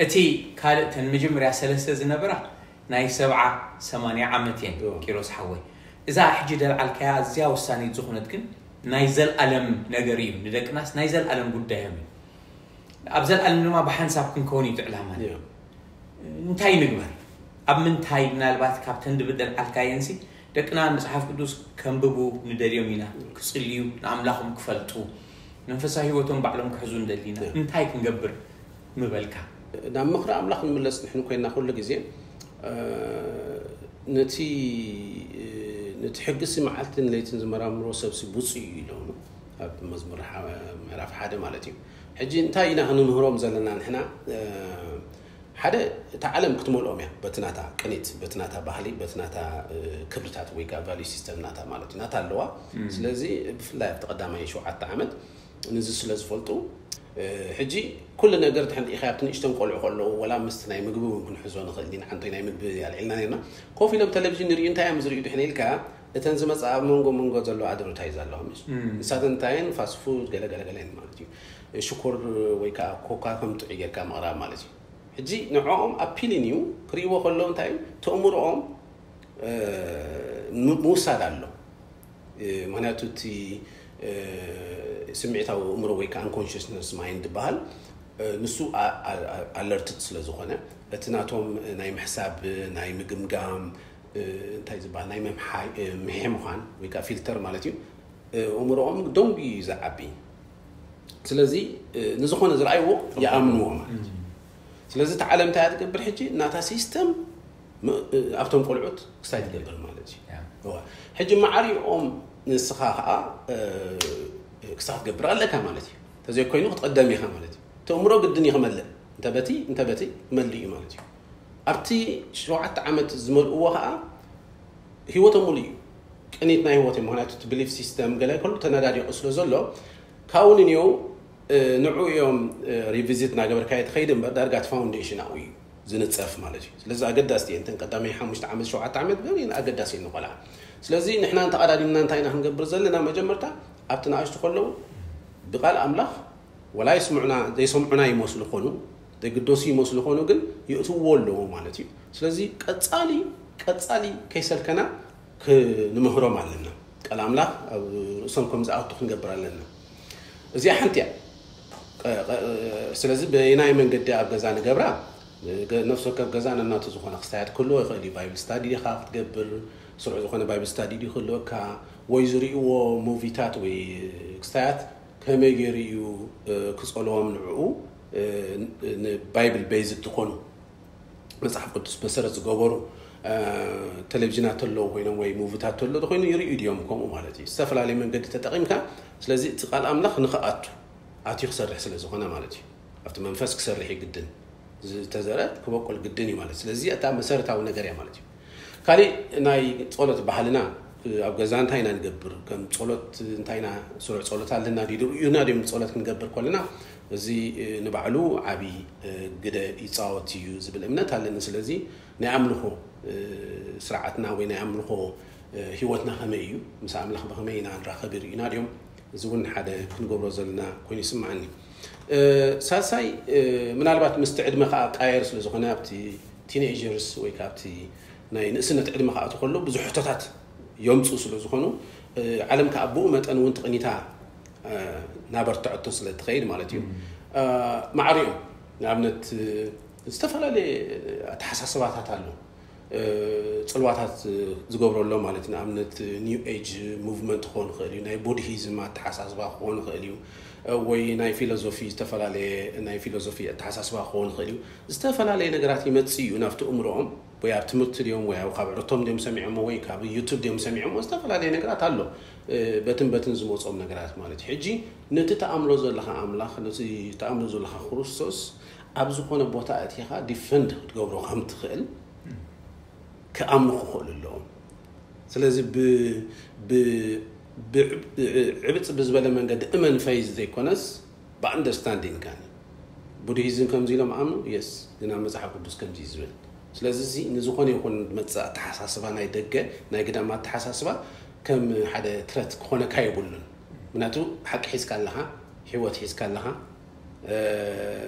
እቲ ካልእ፣ እተን መጀመርያ ሰለስተ ዝነበራ ናይ ሰብዓ ሰማንያ ዓመት እየን። ኪሮስ ሓወይ፣ እዛ ሕጂ ደልዓልካያ ኣዝያ ወሳኒት ዝኾነት ግን ናይ ዘልኣለም ነገር እዩ። ንደቅናስ ናይ ዘልኣለም ጉዳዮም እዩ። ኣብ ዘልኣለም ድማ ብሓንሳብ ክንከውን እዩ እቲ ዕላማ። እንታይ ንግበር? ኣብ ምንታይ? ምናልባት ካብተን ድብል ደልዓልካየንሲ፣ ደቅና መጽሓፍ ቅዱስ ከንብቡ ንደልዮም ኢና፣ ክጽልዩ፣ ንኣምላኾም ክፈልጡ፣ መንፈሳዊ ህይወቶም ባዕሎም ክሕዙ ንደሊ ኢና። እንታይ ክንገብር ምበልካ? ናብ ምኽሪ ኣምላኽ ንምለስ ንሕን ኮይና ኩሉ ግዜ፣ ነቲ ነቲ ሕግሲ መዓልትን ለይትን ዝመራምሮ ሰብሲ ብፁዕ እዩ ኢሎም ኣብ መዝሙር ምዕራፍ ሓደ ማለት እዩ። ሕጂ እንታይ ኢና ክንምህሮም ዘለና ንሕና? ሓደ፣ እታ ዓለም ክትመልኦም እያ፣ በቲ ናታ ቅኒት፣ በቲ ናታ ባህሊ፣ በቲ ናታ ክብርታት ወይ ከዓ ቫልዩ ሲስተም ናታ ማለት እዩ፣ ናታ ኣለዋ። ስለዚ ብፍላይ ኣብቲ ቀዳማይ ሸውዓተ ዓመት ንዚ ስለ ዝፈልጡ፣ ሕጂ ኩሉ ነገር ተሕንዲእካ ኣብቲ ንእሽተን ቆልዑ ከለዉ፣ ወላ ምስቲ ናይ ምግቢ እውን ክንሕዞ ንኽእል ኢና። ሓንቲ ናይ ምግቢ ኣልዒልና ነርና፣ ኮፍ ኢሎም ቴሌቪዥን ንርእዩ፣ እንታይ እዮም ዝርእዩ ድሕን ኢልካ፣ እተን ዝመፅኣ ኣብ መንጎ መንጎ ዘለዋ ኣድቨርታይዝ ኣለዋ፣ ምስ ንሳተን እንታየን ፋስት ፉድ ገለ ገለ ገለ ማለት እዩ። ሽኮር ወይ ከዓ ኮካ ከም ጥዑይ ጌርካ ምቕራብ ማለት እዩ። ሕጂ ንዕኦም ኣፒሊን እዩ ክርእይዎ ከለዉ፣ እንታይ እዩ ተእምሮኦም ምውሳድ ኣሎ። ምክንያቱ እቲ ስምዒታዊ እምሮ ወይ ከዓ ኣንኮንሽስነስ ማይንድ ዝበሃል፣ ንሱ ኣለርትድ ስለ ዝኾነ፣ እቲ ናቶም ናይ ምሕሳብ፣ ናይ ምግምጋም፣ እንታይ ዝበሃል፣ ናይ ምምሓይ፣ ምሕምዃን ወይ ከዓ ፊልተር ማለት እዩ፣ እምሮኦም ደንጉ እዩ ዝዓቢ። ስለዚ ንዝኾነ ዝረኣይዎ ይኣምንዎ ማለት እዩ። ስለዚ እቲ ዓለም እንታይ እያ ትገብር ሕጂ? ናታ ሲስተም ኣብቶም ቆልዑት ክስታይ ትገብር ማለት እዩ። ሕጂ ማዕሪኦም ንስኻ ከዓ ክስታይ ክትገብር ኣለካ ማለት እዩ። እንተዘይኮይኑ ክትቐደም ኢኻ ማለት እዩ። እቲ እምሮ ግድን እዩ ክመልእ። እንተበቲ እንተበቲ ክመልእ እዩ ማለት እዩ። ኣብቲ ሸውዓተ ዓመት ዝመልእዎ ከዓ ህይወቶም ሙሉ እዩ። ቅኒት ናይ ህይወት እዩ። ምክንያቱ እቲ ብሊፍ ሲስተም ገለ ከሉ ተነዳዲቑ ስለ ዘሎ፣ ካብኡ ንንየው ንዑ እዮም ሪቪዚት እናገበርካዮ ትኸይድ እምበር፣ ዳርጋ እቲ ፋውንዴሽን ኣብኡ እዩ ዝንፀፍ ማለት እዩ። ስለዚ ኣገዳሲ እየን እተን ቀዳማይ ሓሙሽተ ዓመት፣ ሸውዓተ ዓመት ግን ኣገዳሲ እየን ንቆልዓ። ስለዚ ንሕና እንተቐዳዲምና እንታይ ኢና ክንገብር ዘለና? መጀመርታ ኣብቲ ንኣሽቱ ከለዉ ብቃል ኣምላኽ ወላ ይስምዑና፣ ዘይሰምዑና ይመስሉ ኾኑ፣ ዘይግደሱ ይመስሉ ኾኑ፣ ግን የእትዎ ኣለዎ ማለት እዩ። ስለዚ ቀጻሊ ቀጻሊ ከይሰልከና ክንምህሮም ኣለና። ቃል ኣምላኽ ኣብ ርእሶም ከም ዝኣቱ ክንገብር ኣለና። እዚኣ ሓንቲ እያ። ስለዚ በየናይ መንገዲ ኣብ ገዛ ንገብራ? ነፍሲ ወከፍ ገዛ ነናቱ ዝኾነ ክስታያት ክህልዎ ይኽእል እዩ። ባይብል ስታዲ ዲኻ ክትገብር፣ ስሩዕ ዝኾነ ባይብል ስታዲ ድዩ ክህልወካ፣ ወይ ዝርእይዎ ሙቪታት ወይ ክስታያት ከመይ ገይሩ እዩ ክጸልዎም ንዕኡ፣ ንባይብል ቤዝድ ዝኾኑ መጽሓፍ ቅዱስ መሰረት ዝገበሩ ቴሌቪዥናት ተለዉ ኮይኖም ወይ ሙቪታት ተሎ ኮይኑ ይርእዩ ድዮም? ከምኡ ማለት እዩ። ዝተፈላለየ መንገዲ ተጠቒምካ። ስለዚ እቲ ቃል ኣምላኽ ንኽኣቱ ኣትዩ ክሰርሕ ስለ ዝኾነ ማለት እዩ። ኣብቲ መንፈስ ክሰርሕ እዩ ግድን። ዝተዘረ ክበቁል ግድን እዩ ማለት። ስለዚ እታ መሰረታዊ ነገር እያ ማለት እዩ። ካሊእ ናይ ጸሎት ባህልና ኣብ ገዛ እንታይ ኢና ንገብር? ከም ጸሎት እንታይ ኢና ስሩዕ ጸሎት ኣለና ድዩ? ርኡዩና ድዮም ጸሎት ክንገብር ከለና? እዚ ንባዕሉ ዓቢ ግደ ይጻወት እዩ ዝብል እምነት ኣለኒ። ስለዚ ናይ ኣምልኾ ስርዓትና ወይ ናይ ኣምልኾ ህይወትና ከመይ እዩ? ምስ ኣምላኽ ብኸመይ ኢና ንራኸብ? ይርእዩና ድዮም? እዚ እውን ሓደ ክንገብሮ ዘለና ኮይኑ ይስምዓኒ። ሳልሳይ፣ ምናልባት ምስቲ ዕድመ ከዓ ቃየር ስለ ዝኾነ ኣብቲ ቲኔጀርስ ወይ ከዓ ኣብቲ ናይ ንእስነት ዕድመ ክኣቱ ከሎ ብዙሕ ሕቶታት የምፁ ስለ ዝኾኑ፣ ዓለም ከዓ ብኡ መጠን እውን ትቕኒታ ናበርትዐቶ ስለ ትኸይድ ማለት እዩ። ማዕሪኦም ንኣብነት ዝተፈላለየ ኣተሓሳስባታት ኣሎ። ጽልዋታት ዝገብረሎም ማለት ንኣብነት ኒው ኤጅ ሙቭመንት ክኾን ይኽእል እዩ፣ ናይ ቡድሂዝም ኣተሓሳስባ ክኾን ይኽእል እዩ፣ ወይ ናይ ፊሎዞፊ ዝተፈላለየ ናይ ፊሎዞፊ ኣተሓሳስባ ክኾን ይኽእል እዩ። ዝተፈላለየ ነገራት ይመጽእ እዩ ናብቲ እምሮኦም፣ ወይ ኣብ ትምህርቲ ድዮም ወይ ኣብ ካብ ዕርቶም ድዮም ሰሚዖሞ ወይ ካብ ዩቱብ ድዮም ሰሚዖሞ፣ ዝተፈላለየ ነገራት ኣሎ። በትን በትን ዝመጾም ነገራት ማለት እዩ። ሕጂ ነቲ ተኣምሎ ዘለኻ ኣምላኽ፣ ነቲ ተኣምሎ ዘለኻ ክርስቶስ ኣብ ዝኾነ ቦታ ኣእቲኻ ዲፈንድ ክትገብሮ ከም ትኽእል ክኣምኑ ክኽእሉ ኣለዎም። ስለዚ ዕብፅ ብዝበለ መንገዲ እመን ፈይዝ ዘይኮነስ ብኣንደርስታንዲንግ ካኒ ቡድሂዝም ከምዚ ኢሎም ኣምኑ የስ ግን ኣብ መፅሓፍ ቅዱስ ከምዚ እዩ ዝብል። ስለዚ እዚ ንዝኾነ ይኹን መፅእ ኣተሓሳስባ ናይ ደገ ናይ ግዳም ኣተሓሳስባ ከም ሓደ ትረት ክኾነካ የብሉን። ምክንያቱ ሓቂ ሒዝካ ኣለኻ፣ ህይወት ሒዝካ ኣለኻ፣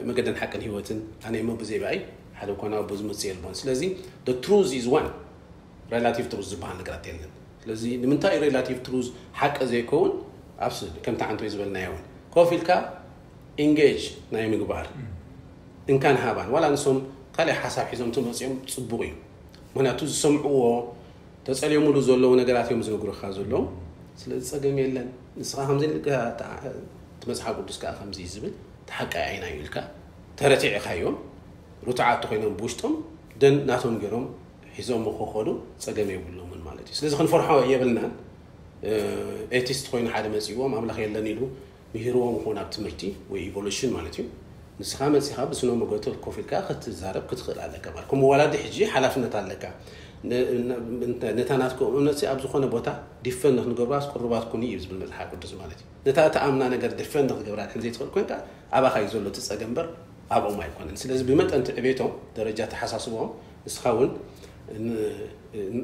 መገደን ሓቅን ህይወትን ኣነ እሞ ብዘይ ብኣይ ሓደ እኳ ናብ ኣቦ ዝመጽእ የልቦን። ስለዚ the truth is one፣ relative truth ዝበሃል ነገራት የለን። ስለዚ ንምንታይ እዩ relative truth ሓቂ ዘይከውን? ኣብ ስእሊ ከምቲ ዓንቶይ ዝበልናዮ እውን ኮፍ ኢልካ ኢንጌጅ ናይ ምግባር እንካን ሃባን ዋላ ንሶም ካልእ ሓሳብ ሒዞም ተመፅኦም ፅቡቕ እዩ። ምክንያቱ ዝሰምዕዎ ተፀልዮምሉ ዘለዉ ነገራት እዮም ዝነግሩካ ዘለዉ። ስለዚ ፀገም የለን። ንስኻ ከምዚ ኢልካ እቲ መፅሓፍ ቅዱስ ከዓ ከምዚ እዩ ዝብል ተሓቃይ ኣይና እዩ ኢልካ ተረቲዕኻዮም ርቱዓት ኮይኖም ብውሽጦም ደን ናቶም ገይሮም ሒዞም ክኸዱ ፀገም የብሎምን ማለት እዩ። ስለዚ ክንፈርሖ የብልናን። ኤቲስት ኮይኑ ሓደ መፂዎም ኣምላኽ የለን ኢሉ ምሂርዎም ይኾን ኣብ ትምህርቲ ወይ ኢቮሉሽን ማለት እዩ። ንስኻ መፂኻ ብስነ መጎተ ኮፍ ኢልካ ክትዛረብ ክትኽእል ኣለካ ማለት ከም ወላዲ ሕጂ ሓላፍነት ኣለካ። ነታ ናትኩም እምነት ኣብ ዝኾነ ቦታ ዲፈንድ ክንገብራስ ቅሩባት ኩኑ እዩ ዝብል መፅሓፍ ቅዱስ ማለት እዩ። ነታ እተኣምና ነገር ዲፈንድ ክትገብራ ድሕን ዘይትኽእል ኮይንካ ኣባኻ እዩ ዘሎ እቲ ፀገም እምበር ኣብኦም ኣይኮነን። ስለዚ ብመጠን ትዕቤቶም ደረጃ ተሓሳስቦም ንስኻ እውን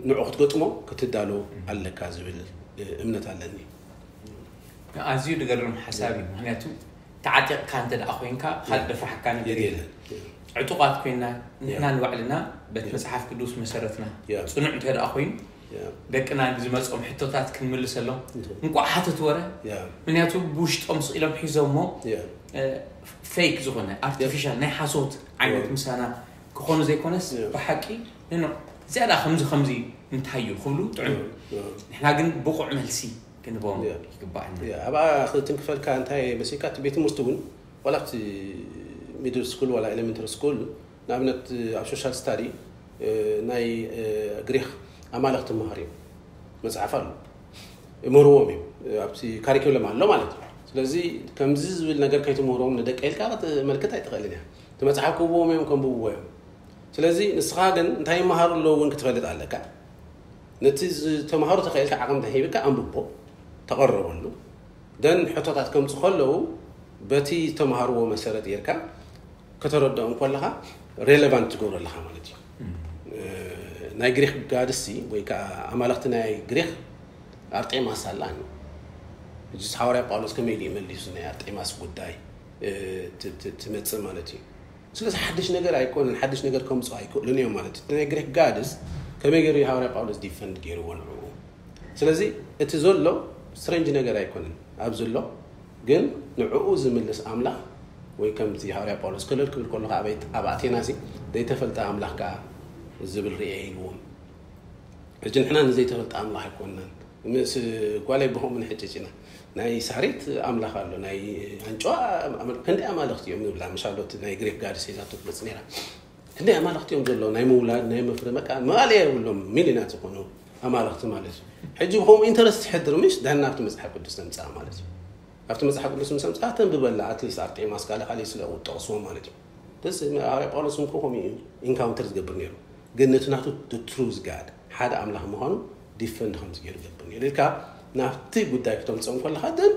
ንዑ ክትገጥሞ ክትዳሎ ኣለካ ዝብል እምነት ኣለኒ። ኣዝዩ ዝገርም ሓሳብ እዩ። ምክንያቱ ተዓጢቕካ እንተ ደኣ ኮይንካ ካልእ ደፍርሓካ ነገር የለን። ዕጡቓት ኮይና ንሕና ንባዕልና በቲ መፅሓፍ ቅዱስ መሰረትና ፅኑዕ እንተ ደኣ ኮይኑ ደቅና ዝመፅኦም ሕቶታት ክንምልሰሎም እንቋዕ ሓተት ወረ ምክንያቱ ብውሽጦም ስቕ ኢሎም ሒዞሞ ፌክ ዝኾነ ኣርቲፊሻል ናይ ሓሶት ዓይነት ምሳና ክኾኑ ዘይኮነስ ብሓቂ ንኖ ዝያዳ ከምዚ ከምዚ እንታይ እዩ ክብሉ ጥዑም። ንሕና ግን ብቑዕ መልሲ ክንቦም ይግባእና። ኣብኣ ክትንክፈልካ እንታይ መሲልካ እቲ ቤት ትምህርቲ እውን ዋላ ኣብቲ ሚድል ስኩል ዋላ ኤሌመንተሪ ስኩል ንኣብነት ኣብ ሶሻል ስታዲ ናይ ግሪክ ኣማልኽ ትምሃር እዮም መፅሓፍ ኣሎ ይምህርዎም እዮም ኣብቲ ካሪኩለም ኣሎ ማለት እዩ። ስለዚ ከምዚ ዝብል ነገር ከይትምህሮም ንደቀ ኢልካ ክትመልክት ኣይትኽእልን እያ። እቲ መፅሓፍ ክህብዎም እዮም ከንብብዎ እዮም። ስለዚ ንስኻ ግን እንታይ ይመሃሩ ኣለዉ እውን ክትፈልጥ ኣለካ። ነቲ ዝተምሃሩ ተኽእልካ ዓቕሚ ተሂብካ ኣንብቦ ተቐረበሉ ደን ሕቶታት ከምፁ ከለዉ በቲ ዝተምሃርዎ መሰረት ጌርካ ከተረድኦም ከለኻ ሬሌቫንት ትገብሮ ኣለኻ ማለት እዩ። ናይ ግሪክ ጋድሲ ወይ ከዓ ኣማለኽቲ ናይ ግሪክ ኣርጤማስ ኣላ። ሕጂ ሓዋርያ ጳውሎስ ከመይ ኢሉ መሊሱ ናይ ኣርጤማስ ጉዳይ ትመፅእ ማለት እዩ። ስለዚ ሓድሽ ነገር ኣይኮነን። ሓድሽ ነገር ከምፅኦ ኣይክእሉን እዮም ማለት እዩ። ናይ ግሪክ ጋድስ ከመይ ገይሩ ሃዋርያ ጳውሎስ ዲፈንድ ገይርዎ ንዕኡ? ስለዚ እቲ ዘሎ ስትሬንጅ ነገር ኣይኮነን ኣብ ዘሎ ግን ንዕኡ ዝምልስ ኣምላኽ ወይ ከምዚ ሃዋርያ ጳውሎስ ከለል ክብል ከሎ ኣብ ኣቴና ሲ ዘይተፈልጠ ኣምላኽ ከዓ ዝብል ርኤ ኢልዎም። ሕጂ ንሕና ንዘይተፈልጠ ኣምላኽ ኣይኮንናን። ምስ ጓለይ ብኸምኡ ንሕጭጭ ኢና። ናይ ሳሬት ኣምላኽ ኣሎ፣ ናይ ኣንጭዋ ኣመል- ክንደይ ኣማልኽቲ እዮም ንብላ። ምሻሎ እቲ ናይ ግሪክ ጋድስ ሒዛቶ ትመጽእ ነይራ። ክንደይ ኣማልኽቲ እዮም ዘለዉ፣ ናይ ምውላድ፣ ናይ ምፍረ፣ በቃ መዋእለ የብሎም፣ ሚልዮናት ዝኾኑ ኣማልኽቲ ማለት እዩ። ሕጂ ብኸምኡ ኢንተረስት ትሕድር ምሽ ድሕና ኣብቲ መጽሓፍ ቅዱስ ተምጽኣ ማለት እዩ። ኣብቲ መጽሓፍ ቅዱስ ምስ ኣምጽኣ ተንብበላ ኣትሊስት ኣርጤማስ ካልእ ካልእ ስለ ጠቕስዎ ማለት እዩ። ደስ ሃዋርያ ጳውሎስ እውን ከምኡ እዩ ኢንካውንተር ዝገብር ነይሩ። ግን ነቲ ናቱ ትሩዝ ጋድ ሓደ ኣምላኽ ምዃኑ ዲፈንድ ከምዚ ገይሩ ገብር ነይሩ ኢልካ ናብቲ ጉዳይ ክተምፅኦም ከለካ then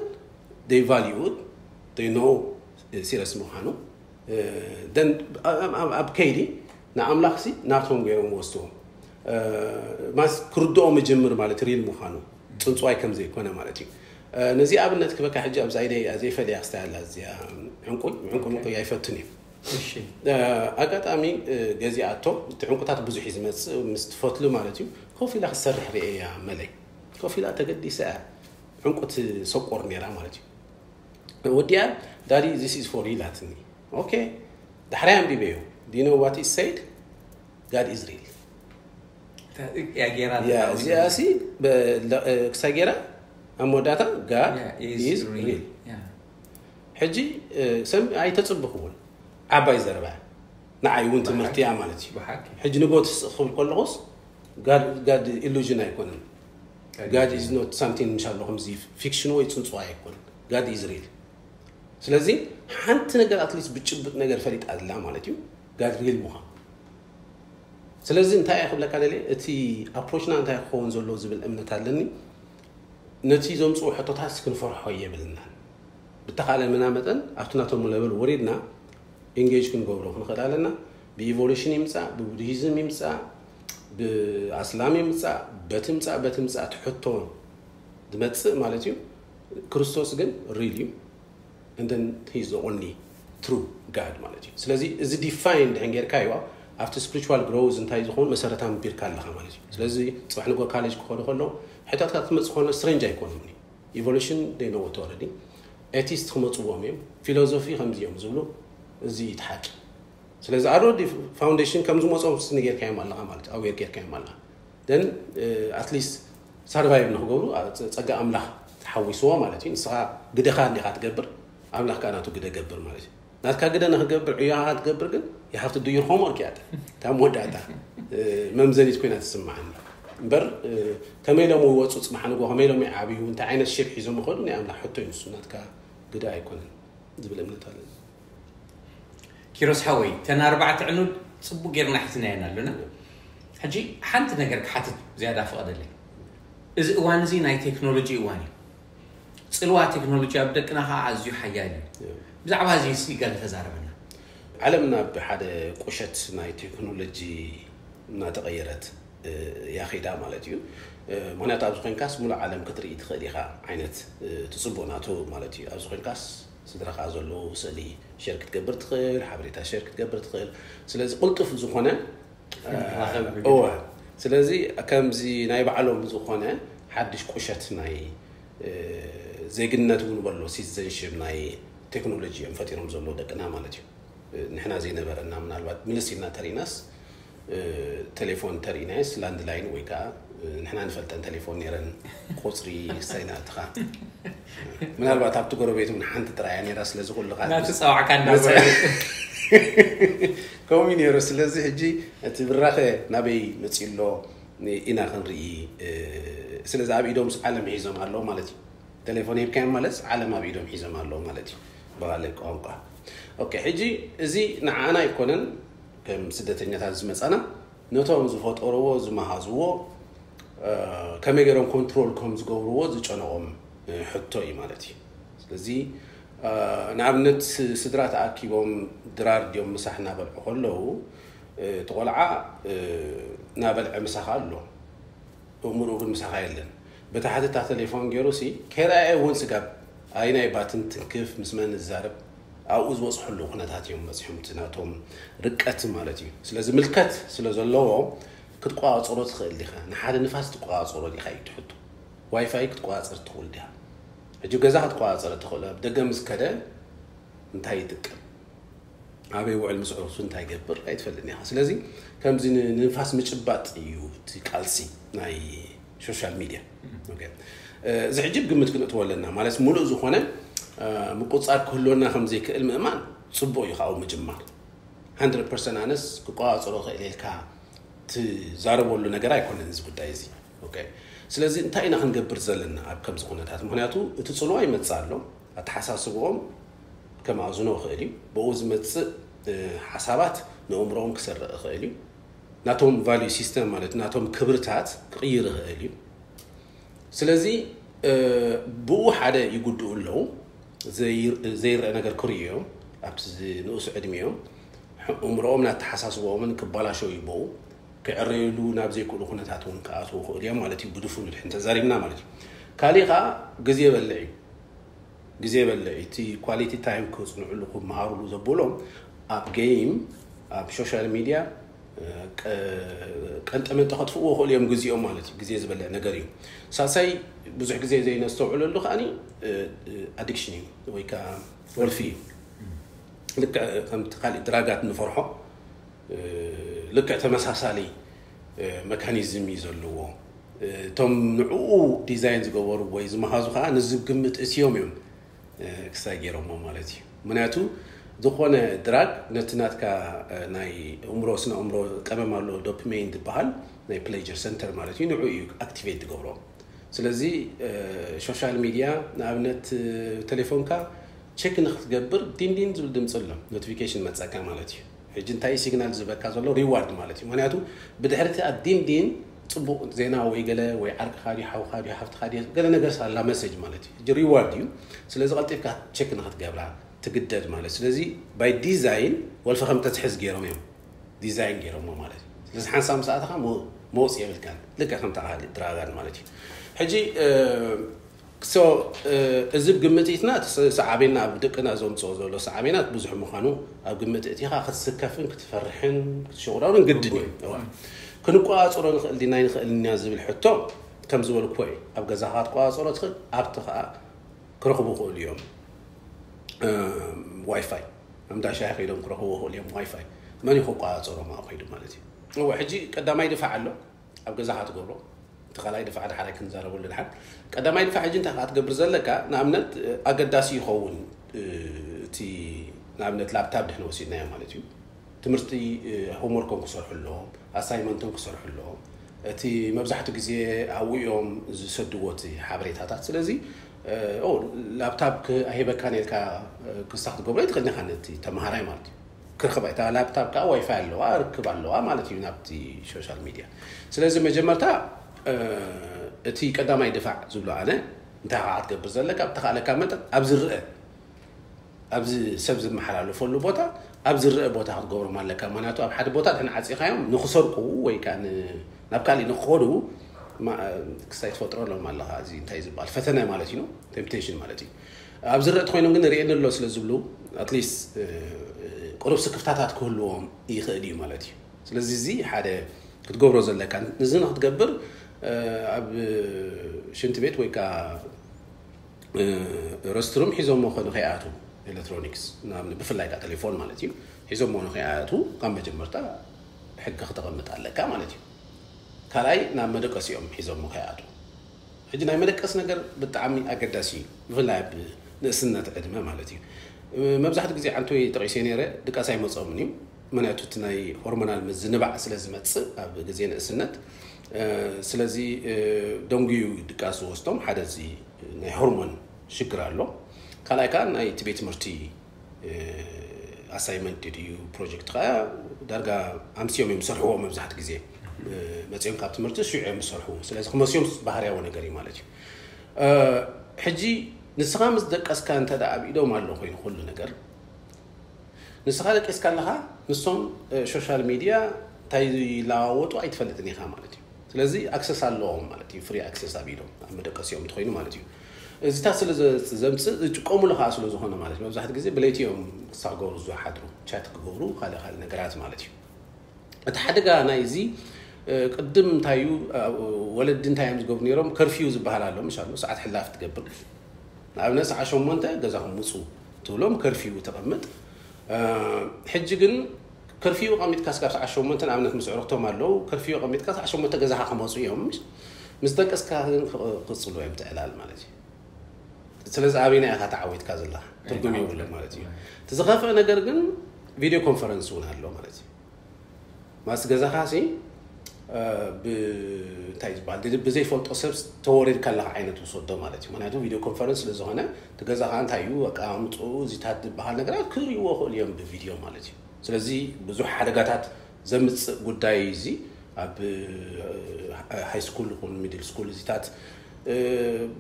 they value it, they know ሲረስ ምዃኑ then ኣብ ከይዲ ንኣምላኽ ሲ ናቶም ገይሮም ወስድዎም ማስ ክርድኦም ይጀምር ማለት ሪል ምዃኑ ፅንፅዋይ ከም ዘይኮነ ማለት እዩ። ነዚ ኣብነት ክበካ ሕጂ ኣብዛ ኢደይ ዘይፈልያ ክስታይ ኣላ እዚኣ ዕንቁ ዕንቁ ምቁ ኣይፈትን እዩ። ኣጋጣሚ ገዚኣቶ እቲ ዕንቁታት ብዙሕ እዩ ዝመፅእ ምስ ትፈትሉ ማለት እዩ። ኮፍ ኢላ ክትሰርሕ ርእየ እያ መለይ ኮፍ ኢላ ተገዲሳ እያ ዕንቁ ትሰቆር ነይራ ማለት እዩ። ወዲኣ ዳዲ this is for you ኢላትኒ። ኦኬ ዳሕራይ ኣንቢበዮ do you know what it said? God is real። እዚኣ ሲ ክሳይ ገይራ ኣብ መወዳእታ God is real። ሕጂ ሰም ኣይተፅብኽውን ዓባይ ዘረባ ንዓይ እውን ትምህርቲ እያ ማለት እዩ። ሕጂ ንጎ ትስእ ክብል ከለኹስ ጋድ ኢሉዥን ኣይኮነን። God is not something ምሻሎ ከምዚ ፊክሽን ወይ ፅንፅዋ ኣይኮነን። God is real። ስለዚ ሓንቲ ነገር ኣትሊስት ብጭብጥ ነገር ፈሊጣ ኣላ ማለት እዩ። God real ምዃን ስለዚ እንታይ እየ ክብለካ ደልየ እቲ ኣፕሮችና እንታይ ክኸውን ዘለዎ ዝብል እምነት ኣለኒ። ነቲ ዘምፅኡ ሕቶታት ክንፈርሖ የብልናን። ብተኻለመና መጠን ኣብቲ ናቶም ለበል ወሪድና ኢንጌጅ ክንገብሮ ክንኽእል ኣለና። ብኢቮሉሽን ይምፃእ ብቡድሂዝም ይምፃእ ብኣስላም ይምፃእ በቲ ምፃእ በቲ ምፃእ ትሕቶ ዝመፅእ ማለት እዩ። ክርስቶስ ግን ሪል እዩ። And then he's the only true God ማለት እዩ። ስለዚ እዚ define ድሕን ጌርካዮ ኣብቲ spiritual growth እንታይ ዝኸውን መሰረት ኣንቢርካ ኣለኻ ማለት እዩ። ስለዚ ጽባሕ ንጎ ካሌጅ ክኾኑ ከለዉ ሕቶታት ክትመጽእ ከሎ strange ኣይኮኑን እዩ። Evolution they know it already. Atheist ክመጽዎም እዮም። Philosophy ከምዚ እዮም ዝብሉ። እዚ እዩ እቲ ሓቂ። ስለዚ already foundation ከም ዝመጾም ስኒ ጌርካዮም ኣለኻ ማለት እዩ። Aware ጌርካዮም ኣለኻ። Then at least survive ንክገብሩ ጸጋ ኣምላኽ ተሓዊስዎ ማለት እዩ። ንስኻ ግደኻ እንዲኻ ትገብር፣ ኣምላኽ ከዓ ናቱ ግደ ገብር ማለት እዩ። ናትካ ግደ ንክገብር ዕዮኻ ክትገብር ግን you have to do your homework እያ እታ መወዳእታ መምዘኒት ኮይና ትስምዓኒ። እምበር ከመይ ኢሎም ይወፁ፣ ፅባሕ ንጎ ከመይ ኢሎም ይዓብዩ፣ እንታይ ዓይነት ሼፕ ሒዞም ይኸዱ ናይ ኣምላኽ ሕቶ እዩ ንሱ፣ ናትካ ግደ ኣይኮነን ዝብል እምነት ኣለኒ። ኪሮስ ሓወይ፣ እተን ኣርባዕተ ዕኑድ ፅቡቅ ጌርና ሒዝናየን ኣለና። ሕጂ ሓንቲ ነገር ክሓትት ዝያዳ ፍቐደለይ። እዚ እዋን እዚ ናይ ቴክኖሎጂ እዋን እዩ። ፅልዋ ቴክኖሎጂ ኣብ ደቅና ከዓ ኣዝዩ ሓያል እዩ። ብዛዕባ እዚ ሲ ገለ ተዛረበና። ዓለም ናብ ሓደ ቁሸት ናይ ቴክኖሎጂ እናተቐየረት እያ ኸይዳ ማለት እዩ። ምክንያቱ ኣብዚ ኮይንካስ ሙሉእ ዓለም ክትርኢ ትኽእል ኢኻ ዓይነት ትፅቡቕ ናቱ ማለት እዩ። ኣብዚ ኮይንካስ ስድራኻ ዘለዉ ስእሊ ሸር ክትገብር ትኽእል፣ ሓበሬታ ሸር ክትገብር ትኽእል። ስለዚ ቅልጡፍ ዝኾነ እወ። ስለዚ ከምዚ ናይ ባዕሎም ዝኾነ ሓድሽ ቁሸት ናይ ዜግነት እውን በሎ citizenship ናይ ቴክኖሎጂ እዮም ፈጢሮም ዘለዉ ደቅና ማለት እዩ። ንሕና ዘይነበረና ምናልባት ምልስ ኢልና ተሪእናስ ቴሌፎን ተሪእናየስ ላንድላይን ወይ ከዓ ንሕና ንፈልጠን ቴሌፎን ነይረን ቁፅሪ ሳይናትኻ ምናልባት ኣብቲ ጎረቤት እውን ሓንቲ ጥራያ ነይራ። ስለዚ ኩልኻ ናትፀዋዕካ እንዳበ ከምኡ ነይሩ። ስለዚ ሕጂ እቲ ብራኸ ናበይ መፂኡ ኣሎ ኢና ክንርኢ። ስለዚ ኣብ ኢዶምስ ዓለም ሒዞም ኣለዉ ማለት እዩ። ቴሌፎን ሂብካዮም ማለት ዓለም ኣብ ኢዶም ሒዞም ኣለዉ ማለት እዩ ብካልእ ቋንቋ። ኦኬ፣ ሕጂ እዚ ንዓና ኣይኮነን ከም ስደተኛታት ዝመፃና፣ ነቶም ዝፈጠርዎ ዝመሃዝዎ ከመይ ገይሮም ኮንትሮል ከም ዝገብርዎ ዝጨነቖም ሕቶ እዩ ማለት እዩ። ስለዚ ንኣብነት ስድራ ተኣኪቦም ድራር ድዮም ምሳሕ እናበልዑ ከለዉ እቲ ቆልዓ እናበልዐ ምሳኻ ኣሎ፣ እምርኡ ግን ምሳኻ የለን። በታ ሓተታ ቴሌፎን ገይሩ ሲ ከይረኣየ እውን ስጋብ ኣይናይ ባትን ትንክፍ ምስ መን ዝዛረብ ኣብኡ ዝበፅሐሉ ኩነታት እዮም በፂሖም። እቲ ናቶም ርቀት ማለት እዩ። ስለዚ ምልከት ስለ ዘለዎ ክትቆፃፀሮ ትኽእል ዲኻ? ንሓደ ንፋስ ትቆፃፀሮ ዲኻ እዩ ትሕቶ። ዋይፋይ ክትቆፃፀር ትኽእል ዲኻ? ሕጂ ገዛ ክትቆፃፀር ትኽእል። ኣብ ደገ ምስ ከደ እንታይ ይጥቀም? ኣበይ ውዕል ምስ ዕሩሱ እንታይ ይገብር ኣይትፈልጥን ኢኻ። ስለዚ ከምዚ ንንፋስ ምጭባጥ እዩ እቲ ቃልሲ ናይ ሶሻል ሚድያ። እዚ ሕጂ ግምት ክንእትዎ ኣለና ማለት ሙሉእ ዝኾነ ምቁፃር ክህልወና ከም ዘይክእል ምእማን ፅቡቅ እዩ። ካብኡ ምጅማር ሓንድረድ ፐርሰንት ኣነስ ክቆፃፀሮ ክእል ኢልካ ትዛረበሉ ነገር ኣይኮነን እዚ ጉዳይ እዚ። ስለዚ እንታይ ኢና ክንገብር ዘለና ኣብ ከምዚ ኩነታት? ምክንያቱ እቲ ፅልዋ ይመፅእ ኣሎ። ኣተሓሳስብኦም ከማእዝኖ ይኽእል እዩ። ብኡ ዝመፅእ ሓሳባት ንእምሮኦም ክሰርቕ ይኽእል እዩ። ናቶም ቫልዩ ሲስተም ማለት ናቶም ክብርታት ክቕይር ይኽእል እዩ። ስለዚ ብኡ ሓደ ይጉድኡ ኣለዉ። ዘይረአ ነገር ክርእዩ እዮም። ኣብቲ ንኡስ ዕድሚኦም እምሮኦም ናተሓሳስቦኦምን ክባላሸው ይበው ክዕረዩሉ ናብ ዘይክእሉ ኩነታት እውን ክኣትዉ ይኽእሉ እዮም ማለት እዩ። ብድፉኑ ድሕን ተዛሪብና ማለት እዩ። ካሊእ ከዓ ግዜ የበልዕ እዩ። ግዜ የበልዕ እቲ ኳሊቲ ታይም ክፅንዕሉ ክመሃሩሉ ዘብሎም ኣብ ጌም ኣብ ሶሻል ሚድያ ቀንጠመንጠ ከጥፍእዎ ይኽእሉ እዮም ግዜኦም ማለት እዩ። ግዜ ዝበልዕ ነገር እዩ። ሳልሳይ ብዙሕ ግዜ ዘይነስተውዕለሉ ከዓኒ ኣዲክሽን እዩ ወይ ከዓ ወልፊ እዩ። ልክዕ ከምቲ ካሊእ ድራጋት ንፈርሖ ልክዕ ተመሳሳሊ መካኒዝም እዩ ዘለዎ። እቶም ንዕኡ ዲዛይን ዝገበሩ ወይ ዝመሃዙ ከዓ ንዚ ግምት እትዮም እዮም ክሳይ ገይሮሞ ማለት እዩ። ምክንያቱ ዝኾነ ድራግ ነቲ ናትካ ናይ እምሮ ስነ እምሮ ቀመም ኣሎ ዶፕሜን ዝበሃል ናይ ፕሌጀር ሰንተር ማለት እዩ። ንዑ እዩ ኣክቲቬት ዝገብሮ። ስለዚ ሶሻል ሚድያ ንኣብነት ቴሌፎንካ ቸክ ንክትገብር ዲንዲን ዝብል ድምፂ ኣሎ ኖቲፊኬሽን መፀካ ማለት እዩ። ሕጂ እንታይ ሲግናል ዝበካ ዘሎ ሪዋርድ ማለት እዩ። ምክንያቱ ብድሕርቲ ኣዲንዲን ፅቡቅ ዜና ወይ ገለ ወይ ዓርቅካ ድዩ ሓውካ ድዩ ሓፍትካ ድዩ ገለ ነገር ሳላ መሰጅ ማለት እዩ። ሕጂ ሪዋርድ እዩ። ስለዚ ቀልጢፍካ ቸክ ንክትገብራ ትግደድ ማለት። ስለዚ ባይ ዲዛይን ወልፈ ከም ተትሕዝ ገይሮም እዮም ዲዛይን ገይሮሞ ማለት እዩ። ስለዚ ሓንሳብ ምስ ኣተኻ መውፅእ የብልካን። ልክዕ ከምታ ካልእ ድራጋን ማለት እዩ። ሕጂ So እዚ ግምት ኢትና ሰዓቤና ኣብ ደቅና ዘምፅኦ ዘሎ ሰዓቤናት ብዙሕ ምዃኑ ኣብ ግምት እቲኻ ክትስከፍን ክትፈርሕን ክትሸቁራሩን ግድን እዩ። ክንቆፃፀሮ ንኽእል ዲና ይንኽእል ኢና ዝብል ሕቶ ከም ዝበልኩዎ እዩ። ኣብ ገዛኻ ክትቆፃፀሮ ትኽእል፣ ኣብቲ ከዓ ክረኽቡ ይኽእሉ እዮም። ዋይፋይ ኣብ እንዳ ሻሂ ከይዶም ክረኽቡ ይኽእሉ እዮም። ዋይፋይ መን እዩ ክቆፃፀሮም ኣብኡ ከይዱ ማለት እዩ። እወ፣ ሕጂ ቀዳማይ ድፋዕ ኣሎ ኣብ ገዛኻ ትገብሮ። እቲ ካልኣይ ድፋዕ ድሓራይ ክንዛረበሉ ድሓን። ቀዳማይ ድፋዕ ሕጂ እንታይ ከዓ ትገብር ዘለካ? ንኣብነት ኣገዳሲ ይኸውን እቲ ንኣብነት ላፕታፕ ድሕን ወሲድናዮ ማለት እዩ። ትምህርቲ ሆምወርኮም ክሰርሑ ኣለዎም፣ ኣሳይመንቶም ክሰርሑ ኣለዎም። እቲ መብዛሕትኡ ግዜ ኣብኡ እዮም ዝሰድዎ እቲ ሓበሬታታት። ስለዚ ላፕታፕ ኣሂበካን ኢልካ ክሳ ክትገብሮ ይትኽእል ኢኻ ነቲ ተምሃራይ ማለት እዩ። ክርክባ እታ ላፕታፕ ከዓ ዋይፋይ ኣለዋ ርክብ ኣለዋ ማለት እዩ ናብቲ ሶሻል ሚድያ። ስለዚ መጀመርታ እቲ ቀዳማይ ድፋዕ ዝብሎ ኣነ እንታይ ከዓ ክትገብር ዘለካ ብተኻእለካ መጠን ኣብ ዝረአ ኣብዚ ሰብ ዝመሓላለፈሉ ቦታ ኣብ ዝረአ ቦታ ክትገብሮም ኣለካ። ምክንያቱ ኣብ ሓደ ቦታ ድሕን ዓፂኻዮም ንክሰርቁ ወይ ከዓ ናብ ካሊእ ንክኸዱ ክስታይ ትፈጥረሎም ኣለካ። እዚ እንታይ ዝበሃል ፈተነ ማለት እዩ፣ ቴምፕቴሽን ማለት እዩ። ኣብ ዝረአ ተኮይኖም ግን ርእየኒ ኣሎ ስለ ዝብሉ ኣትሊስት ቁሩብ ስክፍታታት ክህልዎም ይኽእል እዩ ማለት እዩ። ስለዚ እዚ ሓደ ክትገብሮ ዘለካ እዚ ንክትገብር ኣብ ሽንቲ ቤት ወይ ከዓ ረስትሩም ሒዞሞ ከይኣቱ ኤሌክትሮኒክስ ብፍላይ ከዓ ቴሌፎን ማለት እዩ ሒዞሞ ከይኣቱ ካብ መጀመርታ ሕጊ ክተቐምጥ ኣለካ ማለት እዩ። ካልኣይ ናብ መደቀሲኦም ሒዞሞ ከይኣቱ። ሕጂ ናይ መደቀስ ነገር ብጣዕሚ ኣገዳሲ እዩ፣ ብፍላይ ኣብ ንእስነት ዕድመ ማለት እዩ። መብዛሕትኡ ግዜ ዓንቶይ ጠቒሰ ነይረ ድቃስ ኣይመፅኦምን እዩ። ምክንያቱ እቲ ናይ ሆርሞናል ምዝንባዕ ስለ ዝመፅእ ኣብ ግዜ ንእስነት ስለዚ ደንጉዩ ድቃስ ዝወስዶም ሓደ እዚ ናይ ሆርሞን ሽግር ኣሎ። ካልኣይ ከዓ ናይ እቲ ቤት ትምህርቲ ኣሳይመንት ድዩ ፕሮጀክት ከዓ ዳርጋ ኣምስዮም እዮም ዝሰርሕዎ። መብዛሕትኡ ግዜ መፅዮም ካብ ትምህርቲ ሽዑ እዮም ዝሰርሕዎ። ስለዚ ክመስዮም ባህርያዊ ነገር እዩ ማለት እዩ። ሕጂ ንስኻ ምስ ደቀስካ እንተ ደኣ ኣብ ኢዶም ኣሎ ኮይኑ ኩሉ ነገር ንስኻ ደቂስካ ኣለኻ፣ ንሶም ሶሻል ሚድያ እንታይ ይለዋወጡ ኣይትፈልጥን ኢኻ ማለት እዩ። ስለዚ ኣክሰስ ኣለዎም ማለት እዩ፣ ፍሪ ኣክሰስ ኣብ ኢዶም ኣብ መደቀሲኦም እንተኮይኑ ማለት እዩ። እዚታት ስለ ዘምፅእ ዝጥቀሙሉ ከዓ ስለ ዝኾነ ማለት እዩ። መብዛሕትኡ ግዜ ብለይቲ እዮም ክሳዕ ክገብሩ ዝሓድሩ፣ ቻት ክገብሩ ካልእ ካልእ ነገራት ማለት እዩ። እቲ ሓደጋ ናይ እዚ ቅድም እንታይ እዩ፣ ወለዲ እንታይ እዮም ዝገብሩ ነይሮም? ከርፊው ዝበሃል ኣሎ፣ ምሽ ኣሎ ሰዓት ሕላፍ ትገብር። ንኣብነት ሰዓት ሸሞንተ ገዛኹም ውፁ ትብሎም፣ ከርፊው ተቐምጥ። ሕጂ ግን ከርፊው ቀሚጥካ ስጋብ ሰዓት ሸሞንተ ንኣብነት ምስ ዕርክቶም ኣለዉ፣ ከርፊው ቀሚጥካ ሰዓት ሸሞንተ ገዛኻ ክመፁ እዮም። ምስ ደቀስካ ግን ክቕፅሉ እዮም ትዕላል ማለት እዩ። ስለዚ ኣበይና ኢኻ ተዓዊትካ ዘለኻ ትርጉም የብሉን ማለት እዩ። እቲ ዝኸፍአ ነገር ግን ቪድዮ ኮንፈረንስ እውን ኣሎ ማለት እዩ። ማስ ገዛኻ ሲ እንታይ ዝበሃል ብዘይፈልጦ ሰብ ተወሪድካ ኣለካ ዓይነት ውሰዶ ማለት እዩ። ምክንያቱ ቪድዮ ኮንፈረንስ ስለ ዝኾነ እቲ ገዛኻ እንታይ እዩ ኣቀማምጥኡ እዚታት ዝበሃል ነገራት ክርእይዎ ክእሉ እዮም ብቪድዮ ማለት እዩ። ስለዚ ብዙሕ ሓደጋታት ዘምፅእ ጉዳይ እዚ ኣብ ሃይ ስኩል ይኹን ሚድል ስኩል እዚታት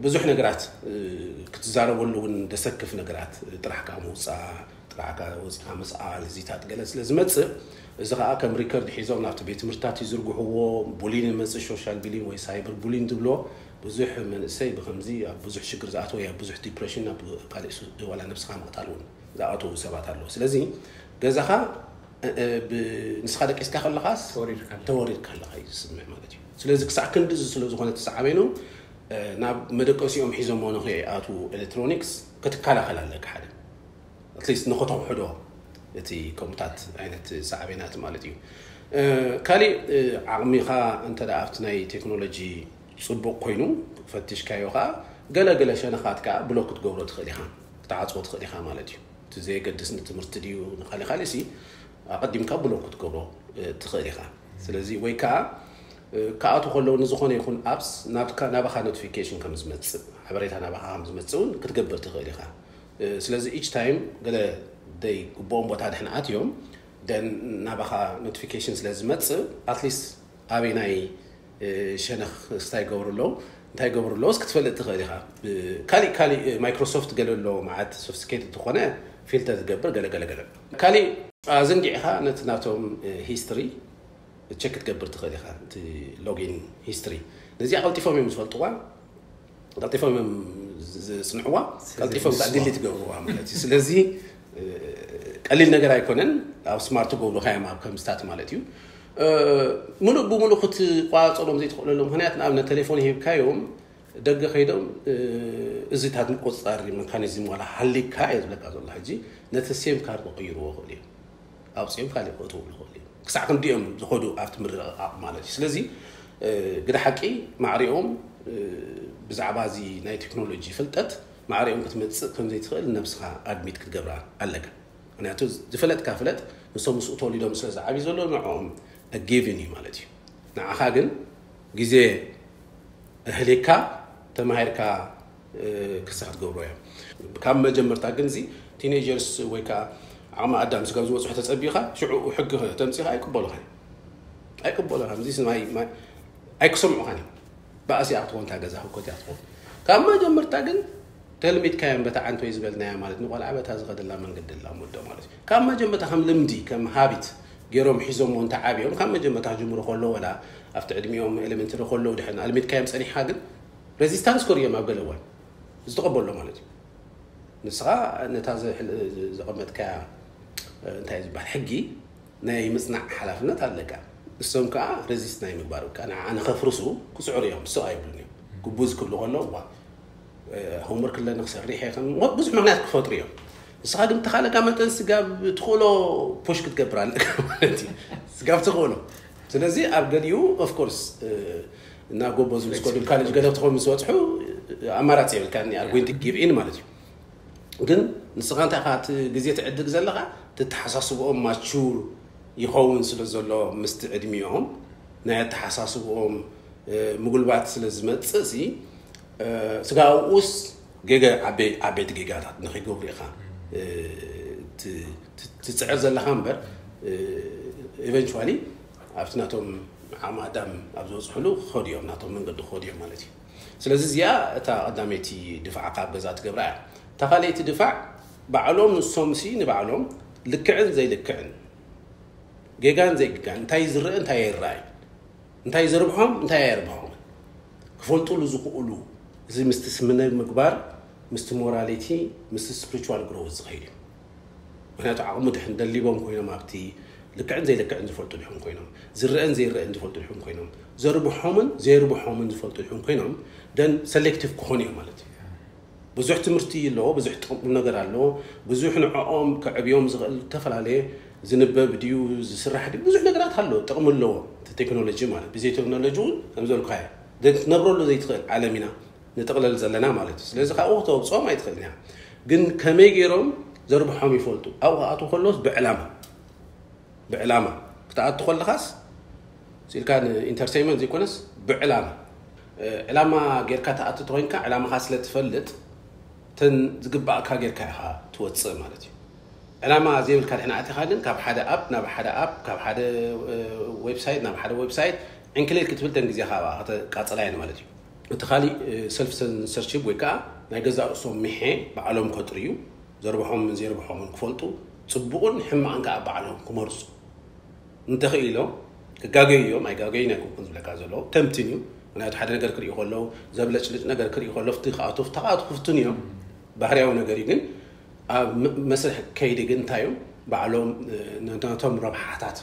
ብዙሕ ነገራት ክትዛረበሉ እውን ደሰክፍ ነገራት ጥራሕ ከዓ ምውፃእ ጥራሕ ወፂኻ ምስኣል እዚታት ገለ ስለ ዝመፅእ እዚ ከዓ ከም ሪከርድ ሒዞም ናብቲ ቤት ትምህርትታት ይዝርግሕዎ። ቡሊን ይመፅእ፣ ሶሻል ቢሊን ወይ ሳይበር ቡሊን ዝብሎ ብዙሕ መንእሰይ ብከምዚ ኣብ ብዙሕ ሽግር ዝኣተወ ኣብ ብዙሕ ዲፕሬሽን ናብ ካልእ ዋላ ነብስኻ ምቕታል እውን ዝኣተዉ ሰባት ኣለዉ። ስለዚ ገዛኻ ንስኻ ደቂስካ ከለኻስ ተወሪድካ ኣለኻ እዩ ዝስምዕ ማለት እዩ። ስለዚ ክሳዕ ክንዲ እዚ ስለ ዝኾነ ተሰዓበይኖም ናብ መደቀሲኦም ሒዞሞ ንኸይኣትዉ ኤሌክትሮኒክስ ክትከላኸል ኣለካ ሓደ ኣትሊስት ንኸተውሕዶ እቲ ከምታት ዓይነት ሳዕቤናት ማለት እዩ። ካሊእ ዓቕሚኻ እንተ ኣብቲ ናይ ቴክኖሎጂ ፅቡቕ ኮይኑ ፈቲሽካዮ ከዓ ገለገለ ሸነኻት ከዓ ብሎክ ክትገብሮ ትኽእል ኢኻ፣ ክትዓፅዎ ትኽእል ኢኻ ማለት እዩ። እቲ ዘየገድስ ንትምህርቲ ድዩ ንካሊእ ካሊእ ሲ ኣቐዲምካ ብሎክ ክትገብሮ ትኽእል ኢኻ። ስለዚ ወይ ከዓ ክኣቱ ከለዉ ንዝኾነ ይኹን ኣፕስ ናባኻ ኖቲፊኬሽን ከም ዝመፅእ ሓበሬታ ናባኻ ከም ዝመፅእ እውን ክትገብር ትኽእል ኢኻ። ስለዚ ኢች ታይም ገለ ደይ ግብኦም ቦታ ድሕን ኣትዮም ደን ናባኻ ኖቲፊኬሽን ስለ ዝመፅእ ኣትሊስት ኣበይ ናይ ሸነኽ ስታይ ገብሩ ኣለዉ እንታይ ገብሩ ኣለዎስ ክትፈልጥ ትኽእል ኢኻ። ካሊእ ካሊእ ማይክሮሶፍት ገለ ኣሎ መዓት ሶፍስኬት ዝኾነ ፊልተር ዝገብር ገለ ገለ ገለ ካሊእ ኣዘንጊዕኻ ነቲ ናቶም ሂስትሪ ቸክ ክትገብር ትኽእል ኢኻ። እቲ ሎጊን ሂስትሪ ነዚኣ ቀልጢፎም እዮም ዝፈልጥዋ። ቀልጢፎም እዮም ዝፅንዕዋ ቀልጢፎም ከዓ ድሊት ገብርዋ ማለት እዩ። ስለዚ ቀሊል ነገር ኣይኮነን። ኣብ ስማርት ጎብልካዮም ኣብ ከምስታት ማለት እዩ። ሙሉእ ብሙሉእ ክትቋፀሎም ዘይትኽእለሉ ምክንያት፣ ንኣብነት ቴሌፎን ሂብካዮም ደገ ከይዶም እዚታት ምቁፅፃር መካኒዝም ዋላ ሃሊካ እየ ዝብለካ ዘሎ። ሕጂ ነቲ ሴም ካርድ ክቕይርዎ ይኽእሉ እዮም። ኣውፅኦም ካልእ ክእትዉ ይኽእሉ እዮም። ክሳዕ ክንዲኦም ዝኸዱ ኣብቲ ምርቕቓቕ ማለት እዩ። ስለዚ ግደ ሓቂ ማዕሪኦም ብዛዕባ እዚ ናይ ቴክኖሎጂ ፍልጠት ማዕሪኦም ክትመፅእ ከም ዘይትኽእል ነብስኻ ኣድሚት ክትገብራ ኣለካ። ምክንያቱ ዝፈለጥካ ፍለጥ፣ ንሶም ምስኡ ተወሊዶም ስለ ዝዓብዩ ዘሎ ንዕኦም ጊቭን እዩ ማለት እዩ። ንዓኻ ግን ግዜ ኣህሊካ ተማሂርካ ክሳ ክትገብሮ እዮም። ካብ መጀመርታ ግን እዚ ቲኔጀርስ ወይ ከዓ ዓቕሚ ኣዳም ስጋብ ዝበፅሑ ተፀቢኻ ሽዑ ሕጊ ተምፂኻ ኣይቅበሉኻን። ኣይቅበሉኻን። እዚ ስማይ ኣይክሰምዑኻን እዮም። ባእሲ እያ ክትኾን፣ እታ ገዛ ህኮት እያ ክትኾን። ካብ መጀመርታ ግን ተልሚድካዮም በታ ዓንቶይ ዝበልናያ ማለት ንቆልዓ በታ ዝኸደላ መንገዲ ላሙዶ ማለት እዩ። ካብ መጀመርታ ከም ልምዲ ከም ሃቢት ገይሮም ሒዞሞ እንተ ዓብዮም ካብ መጀመርታ ክጅምሩ ከሎ ወላ ኣብቲ ዕድሚኦም ኤሌመንተሪ ከለዉ ድሕን ኣልሚድካዮም ጸኒሕካ ግን ሬዚስታንስ ከርእዮም ኣብ ገለ እዋን ዝተቐበሎ ማለት እዩ። ንስኻ ነታ ዘቐመጥካያ እንታይ ዝበሃል ሕጊ ናይ ምጽናዕ ሓላፍነት ኣለካ። እሶም ከዓ ሬዚስት ናይ ምግባር ካ ንዓ ንኸፍርሱ ክጽዕሩ እዮም። ስቕ ኣይብሉን እዮም። ግቡዝ ክብሉ ከለዉ እዋ ሆምወርክ ኣለኒ ክሰርሕ እየ ከም ብዙሕ ምክንያት ክፈጥሩ እዮም። ንስኻ ግን ተኻለካ መጠን ስጋብ ትኽእሎ ፖሽ ክትገብር ኣለካ ማለት እዩ። ስጋብ ትኽእሎ። ስለዚ ኣብ ገሊኡ ኦፍኮርስ እና ጎቦ ዝምስኮ ድም ካሌጅ ገለ ትኾን ምስ በፅሑ ኣማራፂ የብልካ ኒ ኣርጉንቲ ጊቭ ኢን ማለት እዩ። ግን ንስኻ እንታይ ካ እቲ ግዜ ትዕድግ ዘለኻ ትተሓሳስብኦም ማቹር ይኸውን ስለ ዘሎ ምስቲ ዕድሚኦም ናይ ኣተሓሳስብኦም ምጉልባት ስለ ዝመፅእ ሲ ስጋ ኣብኡስ ገገ ዓበይቲ ጌጋታት ንክገብሩ ኢኻ ትፅዕር ዘለኻ እምበር ኤቨንቹዋሊ ኣብቲ ናቶም ዓቕሚ ኣዳም ኣብ ዝበፅሕሉ ክኸዱ እዮም፣ ናቶም መንገዲ ክኸዱ እዮም ማለት እዩ። ስለዚ እዚኣ እታ ቀዳመይቲ ድፋዕ ካብ ገዛ ትገብራ እያ። እታ ካልኣይቲ ድፋዕ ባዕሎም ንሶም ሲ ንባዕሎም ልክዕን ዘይልክዕን ጌጋን ዘይግጋን እንታይ ዝረአ እንታይ ኣይረኣይ እንታይ ዘርብሖም እንታይ ኣየርብሖምን ክፈልጡሉ ዝኽእሉ እዚ ምስቲ ስምነ ምግባር ምስቲ ሞራሊቲ ምስቲ ስፕሪቹዋል ግሮውት ዝኸይድ እዩ። ምክንያቱ ዓቕሙ ድሕን ደሊቦም ኮይኖም ኣብቲ ልክዕን ዘይልክዕን ዝፈልጡ ድሕን ኮይኖም ዝረአን ዘይረአን ዝፈልጡ ድሕን ኮይኖም ዘርብሖምን ዘይርብሖምን ዝፈልጡ ድሕን ኮይኖም ደን ሰሌክቲቭ ክኾኑ እዮም ማለት እዩ። ብዙሕ ትምህርቲ ኣለዎ፣ ብዙሕ ጥቕም ነገር ኣለዎ፣ ብዙሕ ንዕኦም ከዕብዮም ዝኽእል ዝተፈላለየ ዝንበብ ድዩ ዝስራሕ ድዩ ብዙሕ ነገራት ኣሎ ጥቕሚ ኣለዎ። እቲ ቴክኖሎጂ ማለት ብዘይ ቴክኖሎጂ እውን ከም ዘልካዮ ክትነብረሉ ዘይትኽእል ዓለም ኢና ንጥቕለል ዘለና ማለት እዩ። ስለዚ ካብኡ ክተውፅኦም ኣይትኽእልን እያ። ግን ከመይ ገይሮም ዘርብሖም ይፈልጡ። ኣብኡ ክኣትዉ ከለዎስ ብዕላማ ብዕላማ ክትኣቱ ከለኻስ ስኢልካ ንኢንተርቴይመንት ዘይኮነስ ብዕላማ ዕላማ ጌርካ ትኣቱ ተኮይንካ ዕላማኻ ስለ ትፈልጥ ተን ዝግባእካ ጌርካ ኢኻ ትወፅእ ማለት እዩ። ዕላማ ዘይብልካ ድሕና ኣቲኻ ግን ካብ ሓደ ኣፕ ናብ ሓደ ኣፕ ካብ ሓደ ዌብሳይት ናብ ሓደ ዌብሳይት ዕንክሊል ክትብል ተን ግዜኻ ብኣ ከተቃፅላ እየን ማለት እዩ። እቲ ካሊእ ሰልፍ ሰንሰርሺፕ ወይ ከዓ ናይ ገዛእ ርእሶም ምሔ ባዕሎም ከጥርዩ ዘርብሖምን ዘይርብሖምን ክፈልጡ ፅቡቕን ሕማቕን ከዓ ባዕሎም ክመርፁ እንተኽኢሎም ክጋገዩ እዮም። ኣይጋገዩን ኣይኮንኩን ዝብለካ ዘለዉ ተምትን እዩ። ምክንያቱ ሓደ ነገር ክርእዩ ከለዉ ዘብለጭልጭ ነገር ክርእዩ ከሎ ፍትህ ክኣቱ ፍታ ክኣቱ ክፍትን እዮም። ባህርያዊ ነገር እዩ። ግን ኣብ መስርሕ ከይዲ ግን እንታይ እዩ ባዕሎም ነቶም ረብሓታት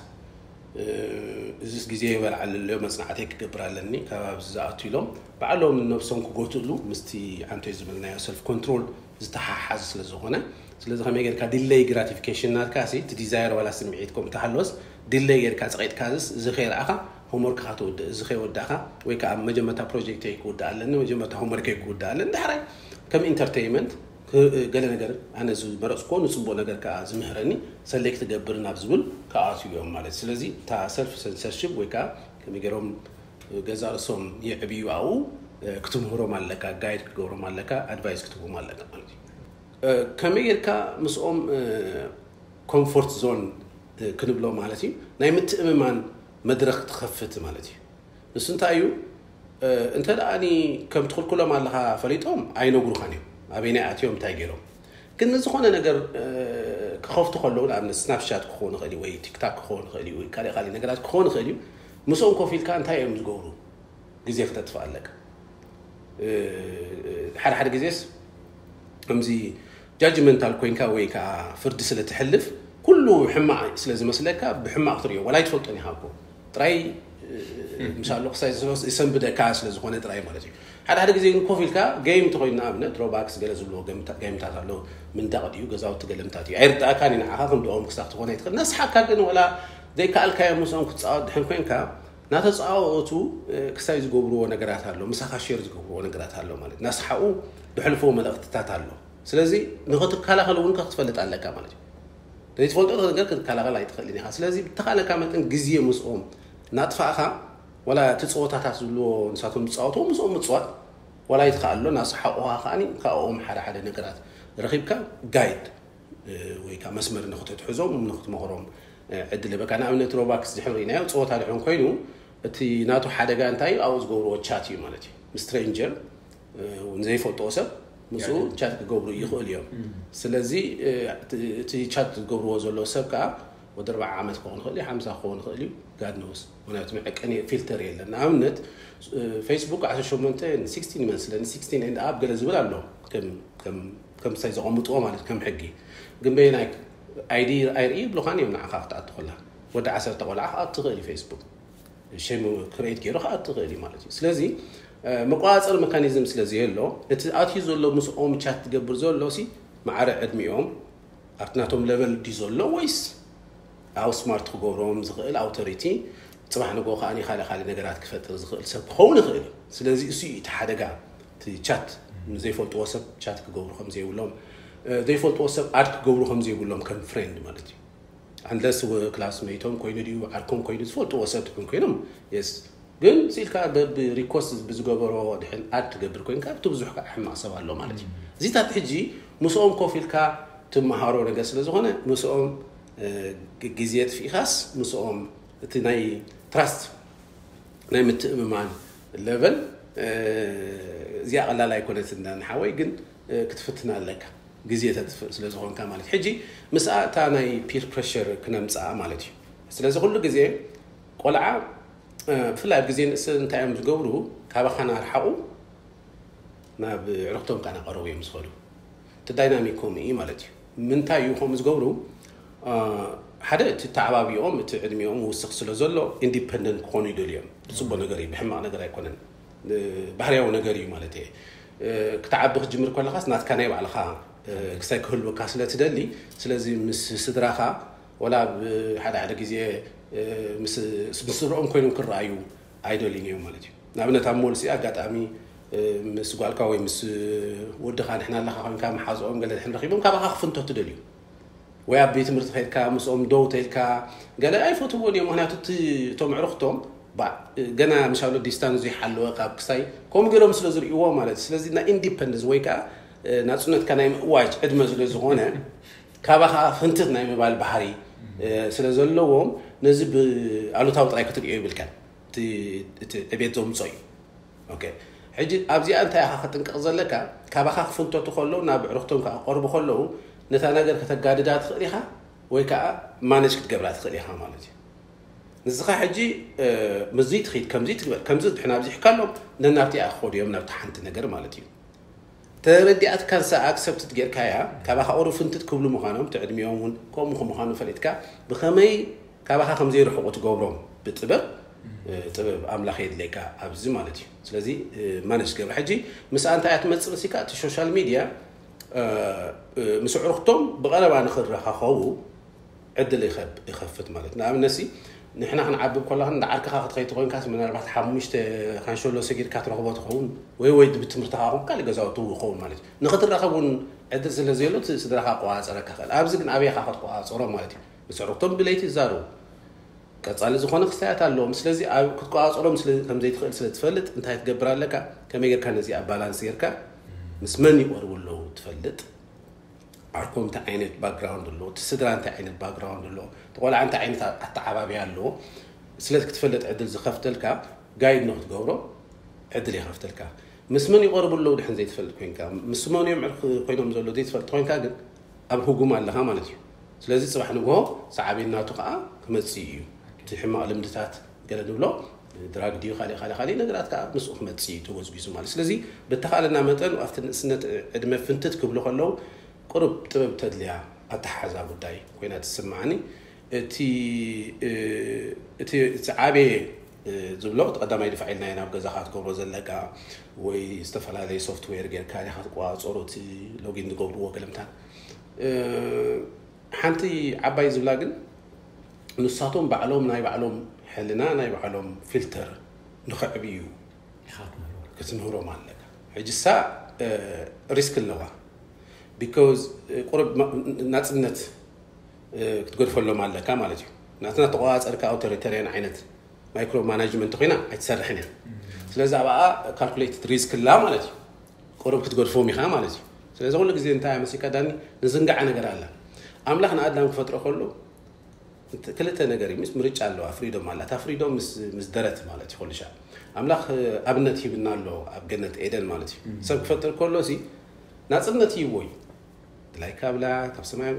እዚስ ግዜ ይበልዓሉ ኣሎ መፅናዕተይ ክገብር ኣለኒ ካብ ኣብዚ ዝኣቱ ኢሎም ባዕሎም ነብሶም ክጎትእሉ ምስቲ ዓንቶይ ዝበልናዮ ሰልፍ ኮንትሮል ዝተሓሓዝ ስለ ዝኾነ ስለዚ ከመይ ጌርካ ዲለይ ግራቲፊኬሽን ናትካ ሲ እቲ ዲዛየር ዋላ ስምዒት ከምኡ ተሃለወስ ዲለይ ጌርካ ፀቂጥካ ዝስ እዚ ከይረኣኻ ሆምወርክኻ ትውድእ እዚ ከይወዳእኻ ወይ ከዓ መጀመርታ ፕሮጀክተይ ክውዳእ ኣለኒ መጀመርታ ሆምወርከይ ክውዳእ ኣለኒ ዳሕራይ ከም ኢንተርቴይመንት ገለ ነገር ኣነ ዝመረፅኮ ንፅቡቅ ነገር ከዓ ዝምህረኒ ሰሌክት ገብር ናብ ዝብል ክኣትዩ እዮም ማለት ስለዚ እታ ሰልፍ ሰንሰርሽፕ ወይ ከዓ ከመይ ገይሮም ገዛ ርእሶም የዕብዩ ኣብኡ ክትምህሮም ኣለካ ጋይድ ክገብሮም ኣለካ ኣድቫይስ ክትቦም ኣለካ ማለት እዩ። ከመይ ጌርካ ምስኦም ኮምፎርት ዞን ክንብሎ ማለት እዩ ናይ ምትእምማን መድረክ ትኸፍት ማለት እዩ። ንሱ እንታይ እዩ እንተ ደኣኒ ከም ትኽልክሎም ኣለኻ ፈሊጦም ኣይነግሩኻን እዮም ኣበይናይ ኣትዮም እንታይ ገይሮም ግን ንዝኾነ ነገር ክኸፍቱ ከለዉ ንኣብነት ስናፕሻት ክኾኑ ይኽእል እዩ ወይ ቲክታክ ክኾኑ ይኽእል እዩ ወይ ካልእ ካልእ ነገራት ክኾኑ ይኽእል እዩ ምስኦም ኮፍ ኢልካ እንታይ እዮም ዝገብሩ ግዜ ክተጥፍእ ኣለካ ሓደ ሓደ ግዜስ ከምዚ ጃጅመንታል ኮይንካ ወይ ከዓ ፍርዲ ስለ ትሕልፍ ኩሉ ሕማቕ ስለ ዝመስለካ ብሕማቕ ትሪኦ ዋላ ኣይትፈልጦን ኢኻ እኮ ጥራይ ምሳሉ ክሳይ ዝሰንብደካ ስለ ዝኾነ ጥራይ ማለት እዩ። ሓደ ሓደ ግዜ ግን ኮፍ ኢልካ ገይም እንተኮይኑ ንኣብነት ሮባክስ ገለ ዝብልዎ ገምታ- ገይምታት ኣሎ። ምንዳቕ ድዩ ገዛውቲ ገለምታት እዩ ኣይርዳእካን እዩ ንዓኻ ክንድኦም ክሳብ ትኾነ ይትኽእል ነስሓካ ግን ወላ ዘይከኣልካዮ ምስኦም ክትፃወት ድሕን ኮይንካ ናተፃወቱ ክሳይ ዝገብርዎ ነገራት ኣሎ ምሳኻ ሼር ዝገብርዎ ነገራት ኣሎ ማለት ናስሓኡ ድሕልፍዎ መልእክትታት ኣሎ። ስለዚ ንኽትከላኸል እውን ክትፈልጥ ኣለካ ማለት እዩ። ዘይትፈልጦ ነገር ክትከላኸል ኣይትኽእልን ኢኻ። ስለዚ ብተኻለካ መጠን ግዜ ምስኦም ናጥፋእኻ ዋላ እቲ ፀወታታት ዝብልዎ ንሳቶም ዝፃወትዎ ምስኦም ምፅዋት ዋላ ይትኽኣሎ ናስሓቑኻ ከዓኒ ካብኦም ሓደ ሓደ ነገራት ረኺብካ ጋይድ ወይ ከዓ መስመር ንክትትሕዞም ንክትመኽሮም ዕድል በካ ንኣብነት ሮባክስ ድሕን ርኢናዮ ፀወታ ድሕን ኮይኑ እቲ ናቱ ሓደጋ እንታይ ኣብኡ ዝገብርዎ ቻት እዩ ማለት እዩ ምስ ስትሬንጀር ዘይፈልጥዎ ሰብ ምስኡ ቻት ክገብሩ ይኽእል እዮም። ስለዚ እቲ ቻት ዝገብርዎ ዘለዉ ሰብ ከዓ ወዲ ኣርባዓ ዓመት ክኸውን ይኽእል እዩ ሓምሳ ክኸውን ይኽእል እዩ ጋድ ኖስ ምክንያቱ መዐቀኒ ፊልተር የለን። ንኣብነት ፌስቡክ ዓሰርተ ሸሞንተ ስክስቲን ይመስለኒ ስክስቲን ኤንድ ኣብ ገለ ዝብል ኣሎ ከም ምሳይ ዘቐምጥዎ ማለት ከም ሕጊ ግን በየናይ ኣይዲ ኣይርኢ ይብሉኻን እዮም ንዓኻ ክትኣቱ ከላ ወዲ ዓሰርተ ቆልዓ ክኣቱ ትኽእል እዩ ፌስቡክ ሸም ክሬት ገይሩ ክኣቱ ትኽእል እዩ ማለት እዩ። ስለዚ መቆፃፀሪ መካኒዝም ስለዘየሎ እቲ ኣትዩ ዘሎ ምስኦም ቻት ትገብር ዘሎ ሲ ማዕረ ዕድሚኦም ኣብቲ ናቶም ለቨል ድዩ ዘሎ ወይስ ኣው ስማርት ክገብሮም ዝኽእል ኣውቶሪቲ ፅባሕ ንጎ ከዓኒ ካልእ ካልእ ነገራት ክፈጥር ዝኽእል ሰብ ክኸውን ይኽእል እዩ። ስለዚ እሱ እዩ እቲ ሓደጋ እቲ ቻት ዘይፈልጥዎ ሰብ ቻት ክገብሩ ከም ዘይብሎም ዘይፈልጥዎ ሰብ ኣድ ክገብሩ ከም ዘይብሎም ከም ፍሬንድ ማለት እዩ። ኣንለስ ክላስሜቶም ኮይኑ ድዩ ዓርኮም ኮይኑ ዝፈልጥዎ ሰብ ትኹን ኮይኖም የስ ግን ስኢልካ በብ ሪኮስት ብዝገበሮ ድሕን ኣድ ትገብር ኮይንካ ብቲ ብዙሕ ከዓ ሕማቕ ሰብ ኣሎ ማለት እዩ። እዚታት ሕጂ ምስኦም ኮፍ ኢልካ ትመሃሮ ነገር ስለ ዝኾነ ምስኦም ግዜ የጥፊእካስ ምስኦም እቲ ናይ ትራስት ናይ ምትእምማን ለቨል እዚኣ ቀላል ኣይኮነትን ንሓወይ ግን ክትፍትና ኣለካ ግዜ ተጥፍእ ስለ ዝኾንካ ማለት ሕጂ ምስኣ እታ ናይ ፒር ፕረሸር ክነምፅኣ ማለት እዩ። ስለዚ ኩሉ ግዜ ቆልዓ ብፍላይ ኣብ ግዜ ንእስ እንታይ እዮም ዝገብሩ ካባኻ ናርሓቑ ናብ ዕርክቶም ካናቀረቡ እዮም ዝኸዱ። እቲ ዳይናሚክ ከምኡ እዩ ማለት እዩ። ምንታይ እዩ ከምኡ ዝገብሩ ሓደ እቲ ተዓባቢኦም እቲ ዕድሚኦም ውስኽ ስለ ዘሎ ኢንዲፐንደንት ክኾኑ ይደልዮም። ብፅቡቅ ነገር እዩ ብሕማቕ ነገር ኣይኮነን። ባህርያዊ ነገር እዩ ማለት እየ። ክትዓቢ ክትጅምር ከለኻስ ናትካ ናይ ባዕልኻ ክሳይ ክህልወካ ስለ ትደሊ ስለዚ ምስ ስድራኻ ወላ ሓደ ሓደ ግዜ ምስ ስድርኦም ኮይኖም ክረኣዩ ኣይደልዩን እዮም ማለት እዩ። ንኣብነት ኣብ ሞልሲ ኣጋጣሚ ምስ ጓልካ ወይ ምስ ወድኻ ንሕና ኣለኻ ኮይንካ መሓዝኦም ገለ ድሕን ረኺቦም ካባኻ ክፍንቶ ትደልዩ ወይ ኣብ ቤት ትምህርቲ ከድካ ምስኦም ደው ተልካ ገለ ኣይፈትዎን እዮም። ምክንያቱ እቶም ዕርክቶም ገና ምሻሎ ዲስታንስ ዘይሓለወ ካብ ክሳይ ከምኡ ገይሮም ስለ ዝርእዎ ማለት እዩ። ስለዚ ናይ ኢንዲፐንደንስ ወይ ከዓ ናፅነትካ ናይ ምእዋጅ ዕድመ ስለ ዝኾነ ካባኻ ፍንትት ናይ ምባል ባህሪ ስለ ዘለዎም ነዚ ብኣሉታዊ ጥራይ ክትርእዮ ይብልካን እቲ ዕቤት ዘምፆ እዩ። ሕጂ ኣብዚኣ እንታይ ኢኻ ክጥንቀቕ ዘለካ? ካባኻ ክፍንተቱ ከለዉ ናብ ዕርክቶም ክቐርቡ ከለዉ ነታ ነገር ከተጋድዳ ትኽእል ኢኻ ወይ ከዓ ማነጅ ክትገብራ ትኽእል ኢኻ ማለት እዩ። ንስኻ ሕጂ ምዚ ትኽድ ከምዚ ትግበር ከምዚ ድሕና ኣብዚሕካሎም ነናብቲ ክኸዱ እዮም ናብቲ ሓንቲ ነገር ማለት እዩ። ተረዲኣትካ ንሳ ኣክሰፕትድ ጌርካያ ካባኻ ኦሩ ፍንትት ክብሉ ምዃኖም ትዕድሚኦም እውን ከምኡ ምዃኑ ፈሊጥካ ብኸመይ ካባኻ ከም ዘይርሕቑ ትገብሮም ብጥበብ ጥበብ ኣምላኽ የድለየካ ኣብዚ ማለት እዩ። ስለዚ ማነጅ ትገብር ሕጂ ምስኣ እንታይ እያ ትመፅእ መሲካ እቲ ሶሻል ሚድያ ምስ ኣዕሩኽቶም ብቐረባ ንኽረኻኸቡ ዕድል ይኸፍት ማለት ንኣብነት ሲ ንሕና ክንዓብብ ከለኻ እንዳ ዓርክኻ ክትኸይ ትኾይንካስ ምናልባት ሓሙሽተ ካንሸሎ ሰጊድካ ትረኽቦ ትኸውን ወይ ወይ ብትምህርትኻ ኹን ካልእ ገዛውቲ ይኸውን ማለት እዩ። ንኽትራኸብ እውን ዕድል ስለ ዘየሎ እቲ ስድራኻ ቆፃፀረካ ኽእል ኣብዚ ግን ኣበይኻ ክትቆፃፀሮ ማለት እዩ። ምስ ኣዕሩኽቶም ብለይቲ ይዛረቡ ቀፃሊ ዝኾነ ክስታያት ኣለዎም። ስለዚ ኣብ ክትቆፃፀሮም ስለ ከም ዘይትኽእል ስለ ትፈልጥ እንታይ ትገብር ኣለካ? ከመይ ጌርካ ነዚኣ ባላንስ ጌርካ ምስ መን ይቐርቡ ኣለዉ ትፈልጥ ዓርኮም እንታይ ዓይነት ባክግራውንድ ኣለዎ፣ እቲ ስድራ እንታይ ዓይነት ባክግራውንድ ኣለዎ፣ እቲ ቆልዓ እንታይ ዓይነት ኣተዓባብያ ኣለዎ፣ ስለዚ ክትፈልጥ ዕድል ዝኸፍተልካ ጋይድ ንክትገብሮ ዕድል ይኸፍተልካ። ምስ መን ይቐርቡ ኣለዉ ድሕን ዘይትፈልጥ ኮይንካ፣ ምስ መን እዮም ዕርክ ኮይኖም ዘለዉ ዘይትፈልጥ ኮይንካ ግን ኣብ ህጉም ኣለኻ ማለት እዩ። ስለዚ ፅባሕ ንግሆ ሰዓቤን ናቱ ከዓ ክመፅእ እዩ። እቲ ሕማቕ ልምድታት ገለ ንብሎ ድራግ ድዩ ካልእ ካልእ ካልእ ነገራት ከዓ ምስኡ ክመፅእ እዩ ተጎዝጒዙ ማለት። ስለዚ ብተኻለና መጠን ኣብቲ ንእስነት ዕድመ ፍንትት ክብሉ ከለዉ ቁሩብ ጥበብ ተድልያ ኣተሓሓዛ ጉዳይ ኮይና ትስምዓኒ። እቲ እቲ እቲ ዓበየ ዝብሎ እቲ ቀዳማይ ድፋዕ ኢልናዮ ናብ ገዛኻ ትገብሮ ዘለካ ወይ ዝተፈላለየ ሶፍትዌር ጌርካ ዲኻ ትቆፃፀሮ እቲ ሎጊን ዝገብርዎ ገለምታት ሓንቲ ዓባይ ዝብላ ግን ንሳቶም ባዕሎም ናይ ባዕሎም ሕልና ናይ ባዕሎም ፊልተር ንኸዕብዩ ክትምህሮም ኣለካ። ሕጂ እሳ ሪስክ ኣለዋ። ቢካዝ ቁሩብ ናፅነት ክትገድፈሎም ኣለካ ማለት እዩ። ናትና ተቆፃፀርካ ኣውቶሪተሪያን ዓይነት ማይክሮ ማናጅመንት ኮይና ኣይትሰርሕን እያ። ስለዚ ኣብኣ ካልኩሌትድ ሪስክ ኣላ ማለት እዩ። ቁሩብ ክትገድፎም ኢኻ ማለት እዩ። ስለዚ ኩሉ ግዜ እንታይ መሲልካ ዳኒ ንዝንጋዓ ነገር ኣላ። ኣምላኽ ንኣዳም ክፈጥሮ ከሎ ክልተ ነገር እዩ። ምስ ምርጫ ኣለዋ፣ ፍሪዶም ኣላ። እታ ፍሪዶም ምስ ደረት ማለት እዩ። ኩሉ ሻዕ ኣምላኽ ኣብነት ሂብና ኣሎ ኣብ ገነት ኤደን ማለት እዩ። ሰብ ክፈጥር ከሎ ሲ ናፅነት ይህቦ እዩ። ድላይካ ብላ ካብ ሰማይ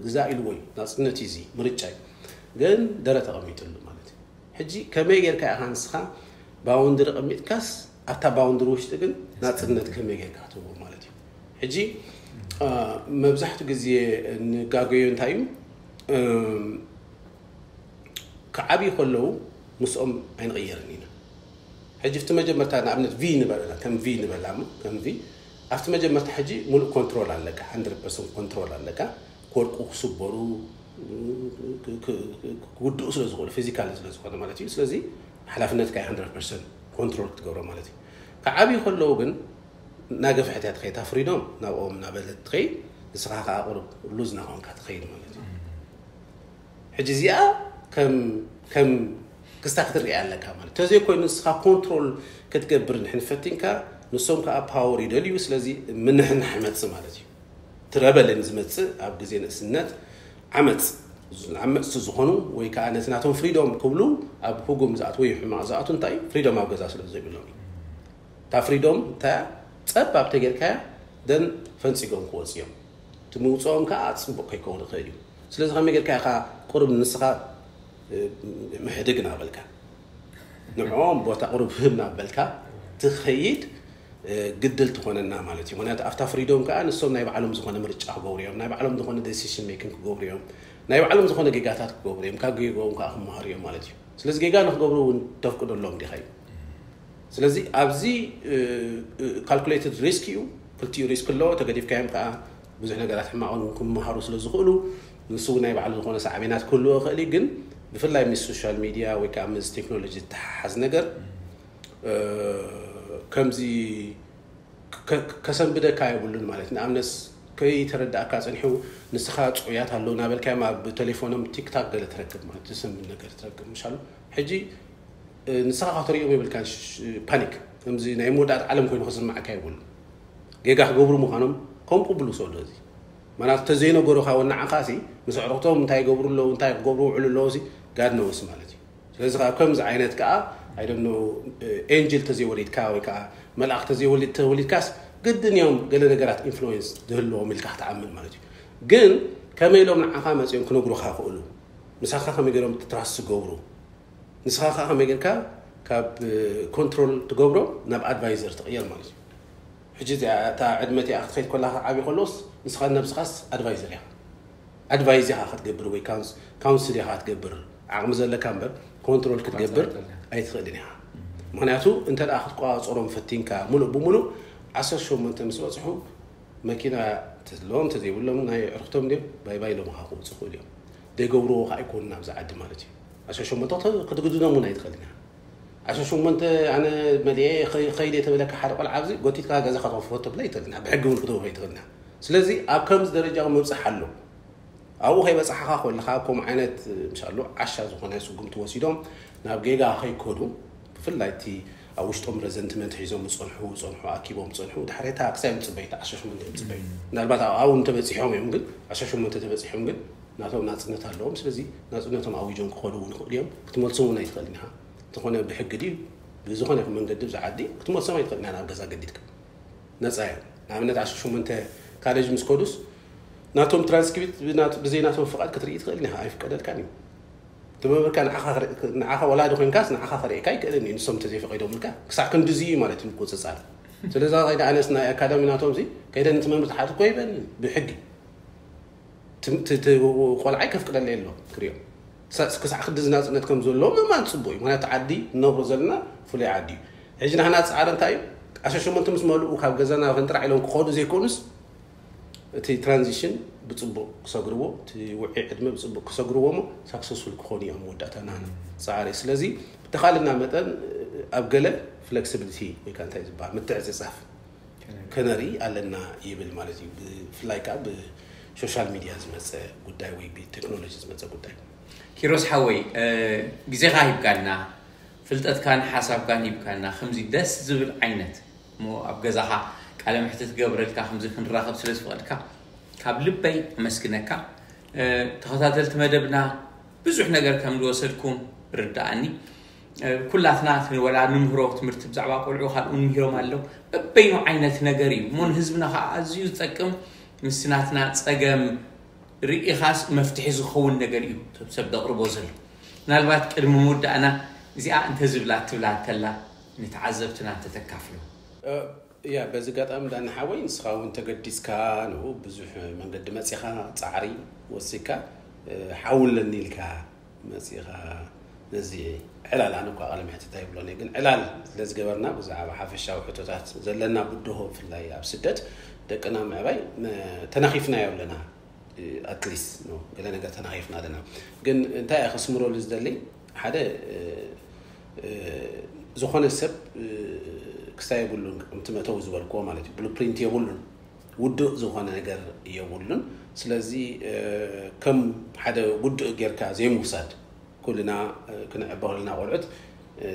ግዛ ኢልዎ እዩ። ናፅነት እዩ፣ እዚ ምርጫ እዩ። ግን ደረት ኣቐሚጥሉ ማለት እዩ። ሕጂ ከመይ ጌርካ ኢኻ ንስኻ ባውንድሪ ቀሚጥካስ ኣብታ ባውንድሪ ውሽጢ ግን ናፅነት ከመይ ጌርካ ክትህቦ ማለት እዩ። ሕጂ መብዛሕትኡ ግዜ ንጋገዮ እንታይ እዩ፣ ክዓብዩ ከለዉ ምስኦም ኣይንቕየርን ኢና። ሕጂ ኣብቲ መጀመርታ ንኣብነት ቪ ንበላ ከም ቪ ንበላ እሞ ከም ቪ ኣብቲ መጀመርታ ሕጂ ሙሉእ ኮንትሮል ኣለካ፣ ሓንድረድ ፐርሰንት ኮንትሮል ኣለካ። ክወድቁ ክስበሩ ክውድኡ ስለ ዝኽእሉ ፊዚካል ስለ ዝኾነ ማለት እዩ። ስለዚ ሓላፍነትካ ሓንድረድ ፐርሰንት ኮንትሮል ክትገብሮ ማለት እዩ። ክዓብዩ ከለዉ ግን እናገፍሐት እያ ትኸይድ፣ እታ ፍሪዶም ናብኦም እናበለት ትኸይድ፣ ንስኻ ከዓ ቁሩብ ሉዝ እናኾንካ ትኸይድ ማለት እዩ። ሕጂ እዚኣ ከም ከም ክስታ ክትሪኣ ኣለካ ማለት ተዘይኮይኑ ንስኻ ኮንትሮል ክትገብር ንሕን ፈቲንካ ንሶም ከዓ ፓወር ይደልዩ። ስለዚ ምንሕንሕ ይመፅእ ማለት እዩ። ትረበልን ዝመፅእ ኣብ ግዜ ንእስነት ዓመፅ ዓመፅቲ ዝኾኑ ወይ ከዓ ነቲ ናቶም ፍሪዶም ክብሉ ኣብ ህጉም ዝኣትዉ ወይ ሕማቕ ዝኣትዉ እንታይ ፍሪዶም ኣብ ገዛ ስለ ዘይብሎም እዩ። እታ ፍሪዶም እታ ፀብ ኣብ ተጌርካያ ደን ፈንፂጎም ክወፁ እዮም። እቲ ምውፅኦም ከዓ ፅቡቕ ከይከውን ይኽእል እዩ። ስለዚ ከመይ ጌርካ ኢኻ ቁሩብ ንስኻ ምሕድግ እናበልካ ንዕኦም ቦታ ቁሩብ ህብ እናበልካ ትኸይድ ግድል ትኾነና ማለት እዩ። ምክንያቱ ኣብታ ፍሪዶም ከዓ ንሶም ናይ ባዕሎም ዝኾነ ምርጫ ክገብሩ እዮም፣ ናይ ባዕሎም ዝኾነ ዴሲሽን ሜኪንግ ክገብሩ እዮም፣ ናይ ባዕሎም ዝኾነ ጌጋታት ክገብሩ እዮም፣ ካብ ጌጋኦም ከዓ ክመሃሩ እዮም ማለት እዩ። ስለዚ ጌጋ ንክገብሩ እውን ተፍቅደሎም ዲኻ እዩ። ስለዚ ኣብዚ ካልኩሌትድ ሪስክ እዩ። ክልቲኡ ሪስክ ኣለዎ። ተገዲፍካዮም ከዓ ብዙሕ ነገራት ሕማቕን ክመሃሩ ስለ ዝኽእሉ ንሱ እውን ናይ ባዕሉ ዝኾነ ሳዕቤናት ክህልዎ ይኽእል እዩ። ግን ብፍላይ ምስ ሶሻል ሚድያ ወይ ከዓ ምስ ቴክኖሎጂ ዝተሓሓዝ ነገር ከምዚ ከሰንብደካ የብሉን ማለት ንኣብነት ከይተረዳእካ ፀኒሑ ንስኻ ፅዑያት ኣለዉ እናበልካዮም ኣብ ቴሌፎኖም ቲክታክ ገለ ትረክብ ማለት ዘሰንብድ ነገር ትረክብ ምሻሉ። ሕጂ ንስኻ ከተርእዮም የብልካ ፓኒክ ከምዚ ናይ መወዳእት ዓለም ኮይኑ ክስማዓካ የብሉ። ጌጋ ክገብሩ ምዃኖም ከም ቅብሉ ሰዶ እዚ ማለት ተዘይነገሩካ ወናዓኻ ሲ ምስ ኣዕሩኽቶም እንታይ ይገብሩ ኣለዉ እንታይ ክገብሩ ውዕሉ ኣለዉ ሲ ጋድ ነውስ ማለት እዩ። ስለዚ ከዓ ከምዚ ዓይነት ከዓ ኣይደኖ ኤንጅል ተዘይወሊድካ ወይ ከዓ መልኣኽ ተዘይወሊድ ተወሊድካስ ግድን እዮም ገለ ነገራት ኢንፍሉዌንስ ዝህልዎም ኢልካ ክትኣምን ማለት እዩ። ግን ከመይ ኢሎም ንዓኻ መፂኦም ክነግሩኻ ክእሉ ምሳኻ ከመይ ገይሮም ትራስ ዝገብሩ ንስኻ ከዓ ከመይ ጌርካ ካብ ኮንትሮል ትገብሮ ናብ ኣድቫይዘር ትቕየር ማለት እዩ። ሕጂ እዚኣ እታ ዕድመ እቲኣ ክትኸይድ ከላ ዓብዪ ከሎስ ንስኻ ነብስኻስ ኣድቫይዘር ኢኻ ኣድቫይዝ ኢኻ ክትገብር ወይ ካውንስል ኢኻ ክትገብር ዓቕሚ ዘለካ እምበር ኮንትሮል ክትገብር ኣይትኽእልን ኢኻ። ምክንያቱ እንተ ደኣ ክትቆፃፀሮም ፈቲንካ ሙሉእ ብሙሉእ ዓሰርተ ሸሞንተ ምስ በፅሑ መኪና ተለዎም ተዘይብሎም ናይ ዕርክቶም ድዮም ባይ ባይ ኢሎም ከዓ ክውፅኡ ይኽእሉ እዮም። ዘይገብርዎ ከዓ ኣይኮኑን ኣብዚ ዓዲ ማለት እዩ። ዓሰርተ ሸሞንተ ክትግድዶም እውን ኣይትኽእልን ኢኻ። ዓሰርተ ሸሞንተ ኣነ መሊኤ ከይደ ተበለካ ሓደ ቆልዓ ኣብዚ ጎቲትካ ገዛኻ ተኽፍቶ ትብላ ኣይትኽእልን ኢኻ። ብሕጊ እውን ክትህቦ ኣይትኽእልን ኢኻ። ስለዚ ኣብ ከምዚ ደረጃ እውን ምብፃሕ ኣሎ። ኣብኡ ከይበፃሕኻ ከለኻ ከምኡ ዓይነት ምሻሉ ዓሻ ዝኾነ ስጉምቲ ወሲዶም ናብ ጌጋ ከይከዱ ብፍላይ እቲ ኣብ ውሽጦም ረዘንትመንት ሒዞም ዝፀንሑ ዝፀንሑ ኣኪቦም ዝፀንሑ ድሕሬታ ክሳይ ምፅበይ ዓሰርተ ሸሞንተ ምፅበይ ምናልባት ኣብኡ እንተበፂሖም እዮም ግን ዓሰርተ ሸሞንተ ተበፂሖም ግን ናቶም ናፅነት ኣለዎም። ስለዚ ናፅነቶም ኣዊጆም ክኸዱ እውን ይኽእሉ እዮም። ክትመልሶም እውን ኣይትኽእልን ኢኻ። እንተኾነ ብሕጊ ድዩ ብዝኾነ መንገዲ ብዛ ዓዲ ክትመልሶም ኣይትኽእልን ኢኻ ናብ ገዛ ገዲድካ። ነፃ እዮም። ንኣብነት ዓሰርተ ሸሞንተ ካሌጅ ምስ ከዱስ ናቶም ትራንስክሪፕት ብዘይ ናቶም ፍቓድ ክትርኢ ትኽእል ኢኻ። ኣይፍቀደልካን እዩ። እቲ መምህርካ ንዓኻ ክርኢ- ንዓኻ ወላዲ ኮይንካስ ንዓኻ ክርእየካ ኣይክእልን እዩ፣ ንሶም እንተዘይፈቒዶምልካ። ክሳዕ ክንድዚ እዩ ማለት እዩ ምቁፅፃር። ስለዚ ከይደ ኣነስ ናይ ኣካዳሚ ናቶም እዚ ከይደ ነቲ መምህር ትሓት እኮ ይበኒ ብሕጊ። እቲ ቆልዓይ ከፍቅደለይ ኣሎ ክሪኦ። ክሳዕ ክንድዚ ናፅነት ከም ዘለዎ ምእማን ፅቡቅ እዩ። ምክንያቱ ዓዲ ንነብሮ ዘለና ፍሉይ ዓዲ እዩ። ሕጂ ናህና ፃዕሪ እንታይ እዩ? ዓሰርተ ሸሞንተ ምስ መልኡ ካብ ገዛና ፈንጥራዕ ኢሎም ክኸዱ ዘይኮኑስ እቲ ትራንዚሽን ብፅቡቅ ክሰግርዎ፣ እቲ ውዒ ዕድመ ብፅቡቅ ክሰግርዎ ሞ ሳክሰስፉል ክኾኑ እዮም መወዳእታ ናህና ፃዕሪ። ስለዚ ብተኻልና መጠን ኣብ ገለ ፍሌክሲቢሊቲ ወይ ከዓ እንታይ ዝበሃል ምትዕፅፃፍ ከነርኢ ኣለና ይብል ማለት እዩ። ብፍላይ ከዓ ብሶሻል ሚድያ ዝመፀ ጉዳይ ወይ ብቴክኖሎጂ ዝመፀ ጉዳይ። ኪሮስ ሓወይ፣ ግዜኻ ሂብካና፣ ፍልጠትካን ሓሳብካን ሂብካና፣ ከምዚ ደስ ዝብል ዓይነት እሞ ኣብ ገዛኻ ቃለ መሕትት ክገብረልካ ከምዚ ክንራኸብ ስለ ዝፈቐድካ ካብ ልበይ ኣመስግነካ። ተኸታተልቲ መደብና ብዙሕ ነገር ከም ዝወሰድኩም ርዳኣኒ። ኩላትና ወላ ንምህሮ ትምህርቲ ብዛዕባ ቆልዑ ካልኡ ንምህሮም ኣለዉ። በበይኑ ዓይነት ነገር እዩ እሞ ንህዝብና ከዓ ኣዝዩ ዝጠቅም ምስናትና ፀገም ርኢኻስ መፍትሒ ዝኸውን ነገር እዩ ሰብ ዘቕርቦ ዘሎ። ምናልባት ቅድሚ ምውዳእና እዚኣ እንተዝብላ ትብላ እንተላ ንተዓዘብትና እንተተካፍሎ። ያ በዚ ጋጣሚ ዳኒ ሓወይ ንስኻ እውን ተገዲስካ ንኡ ብዙሕ መንገዲ መፂኻ ፃዕሪ ወሲካ ሓውለኒ ኢልካ መፂኻ ነዚ ዕላል ኣነ እኳ ቃለ መሕትት ኣይብሎን እየ ግን ዕላል ስለዝገበርና ብዛዕባ ሓፈሻዊ ሕቶታት ዘለና ብድሆ ብፍላይ ኣብ ስደት ደቅና ምዕባይ ተናኺፍናዮ ኣለና ኣትሊስት ገለ ነገር ተናኺፍና ኣለና ግን እንታይ እየ ከስምረሉ ዝደሊ ሓደ ዝኾነ ሰብ ክስታይ የብሉን ከምቲ መእተዊ ዝበልክዎ ማለት እዩ ብሉፕሪንት የብሉን ውዱእ ዝኾነ ነገር የብሉን ስለዚ ከም ሓደ ውዱእ ጌርካ ዘይምውሳድ ኩልና ክንዕበ ከለና ቆልዑት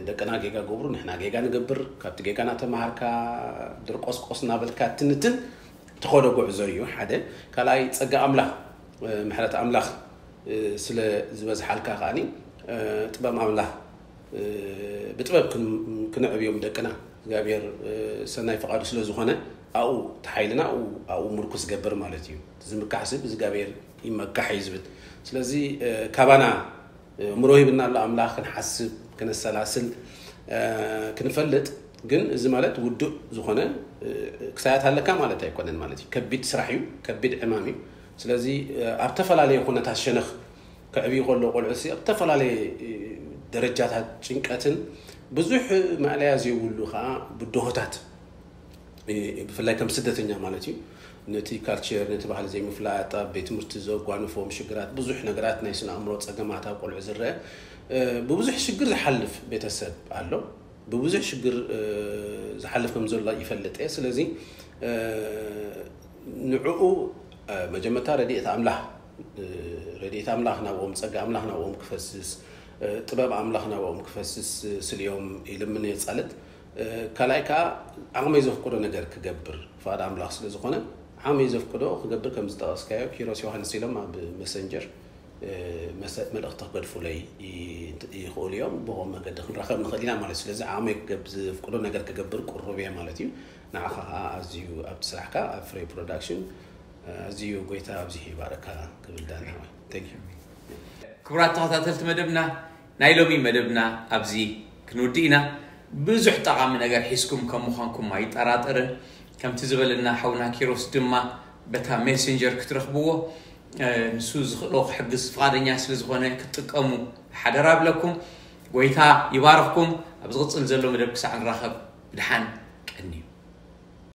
ደቅና ጌጋ ገብሩ ንሕና ጌጋ ንገብር ካብቲ ጌጋ ናተማሃርካ ድርቆስቆስ እናበልካ ትንትን ትኸዶ ጉዕዞ እዩ ሓደ ካልኣይ ፀጋ ኣምላኽ ምሕረት ኣምላኽ ስለ ዝበዝሓልካ ከዓኒ ጥበብ ኣምላኽ ብጥበብ ክንዕብዮም ደቅና እግዚኣብሔር ሰናይ ፍቓዱ ስለ ዝኾነ ኣብኡ ተሓይልና ኣብኡ ምርኩስ ገብር ማለት እዩ ዝምካሕ ስብ እግዚኣብሔር ይመካሕ እዩ ዝብል ስለዚ ካባና እምሮ ሂብና ኣሎ ኣምላኽ ክንሓስብ ክነሰላስል ክንፈልጥ ግን እዚ ማለት ውዱእ ዝኾነ ክሳያት ኣለካ ማለት ኣይኮነን ማለት እዩ ከቢድ ስራሕ እዩ ከቢድ ዕማም እዩ ስለዚ ኣብ ተፈላለየ ኩነታት ሸነኽ ከዕብዩ ከሎ ቆልዑ ኣብ ዝተፈላለየ ደረጃታት ጭንቀትን ብዙሕ መዕለያ ዘይብሉ ከዓ ብድሆታት ብፍላይ ከም ስደተኛ ማለት እዩ ነቲ ካልቸር ነቲ ባህሊ ዘይምፍላጥ ኣብ ቤት ትምህርቲ ዘጓንፎም ሽግራት ብዙሕ ነገራት ናይ ስነ ኣእምሮ ፀገማት ኣብ ቆልዑ ዝረአ ብብዙሕ ሽግር ዝሓልፍ ቤተሰብ ኣሎ ብብዙሕ ሽግር ዝሓልፍ ከም ዘሎ ይፈልጥ እየ ስለዚ ንዕኡ መጀመርታ ረድኤት ኣምላኽ ረድኤት ኣምላኽ ናብኦም ፀጋ ኣምላኽ ናብኦም ክፈስስ ጥበብ ኣምላኽ ናብኦም ክፈስስ ስልዮም ይልምን የፃልት ካልኣይ ከዓ ዓቕመይ ዘፍቅዶ ነገር ክገብር ፍቓድ ኣምላኽ ስለ ዝኾነ ዓቕመይ ዘፍቅዶ ክገብር ከም ዝጠቐስካዮ ኪሮስ ዮሃንስ ኢሎም ኣብ መሰንጀር መልእኽቲ ክገድፉለይ ይኽእሉ እዮም ብኸም መገዲ ክንራኸብ ንኽእል ኢና ማለት ስለዚ ዓቕመይ ክገብ ዝፍቅዶ ነገር ክገብር ቁሩብ እየ ማለት እዩ ንዓኻ ከዓ ኣዝዩ ኣብቲ ስራሕካ ኣብ ፍሬ ፕሮዳክሽን ኣዝዩ ጎይታ ኣብዚ ይባረካ ክብል ዳኒ ሓወይ thank you ክቡራት ተኸታተልቲ መደብና ናይ ሎሚ መደብና ኣብዚ ክንውድእ ኢና ብዙሕ ጠቓሚ ነገር ሒዝኩም ከም ምዃንኩም ኣይጠራጠርን ከምቲ ዝበለና ሓውና ኪሮስ ድማ በታ ሜሴንጀር ክትረኽብዎ ንሱ ዝኽእሎ ክሕግዝ ፍቓደኛ ስለ ዝኾነ ክትጥቀሙ ሓደራ ብለኩም ጎይታ ይባርኽኩም ኣብ ዝቕፅል ዘሎ መደብ ክሳዕ ንራኸብ ብድሓን ቀንዩ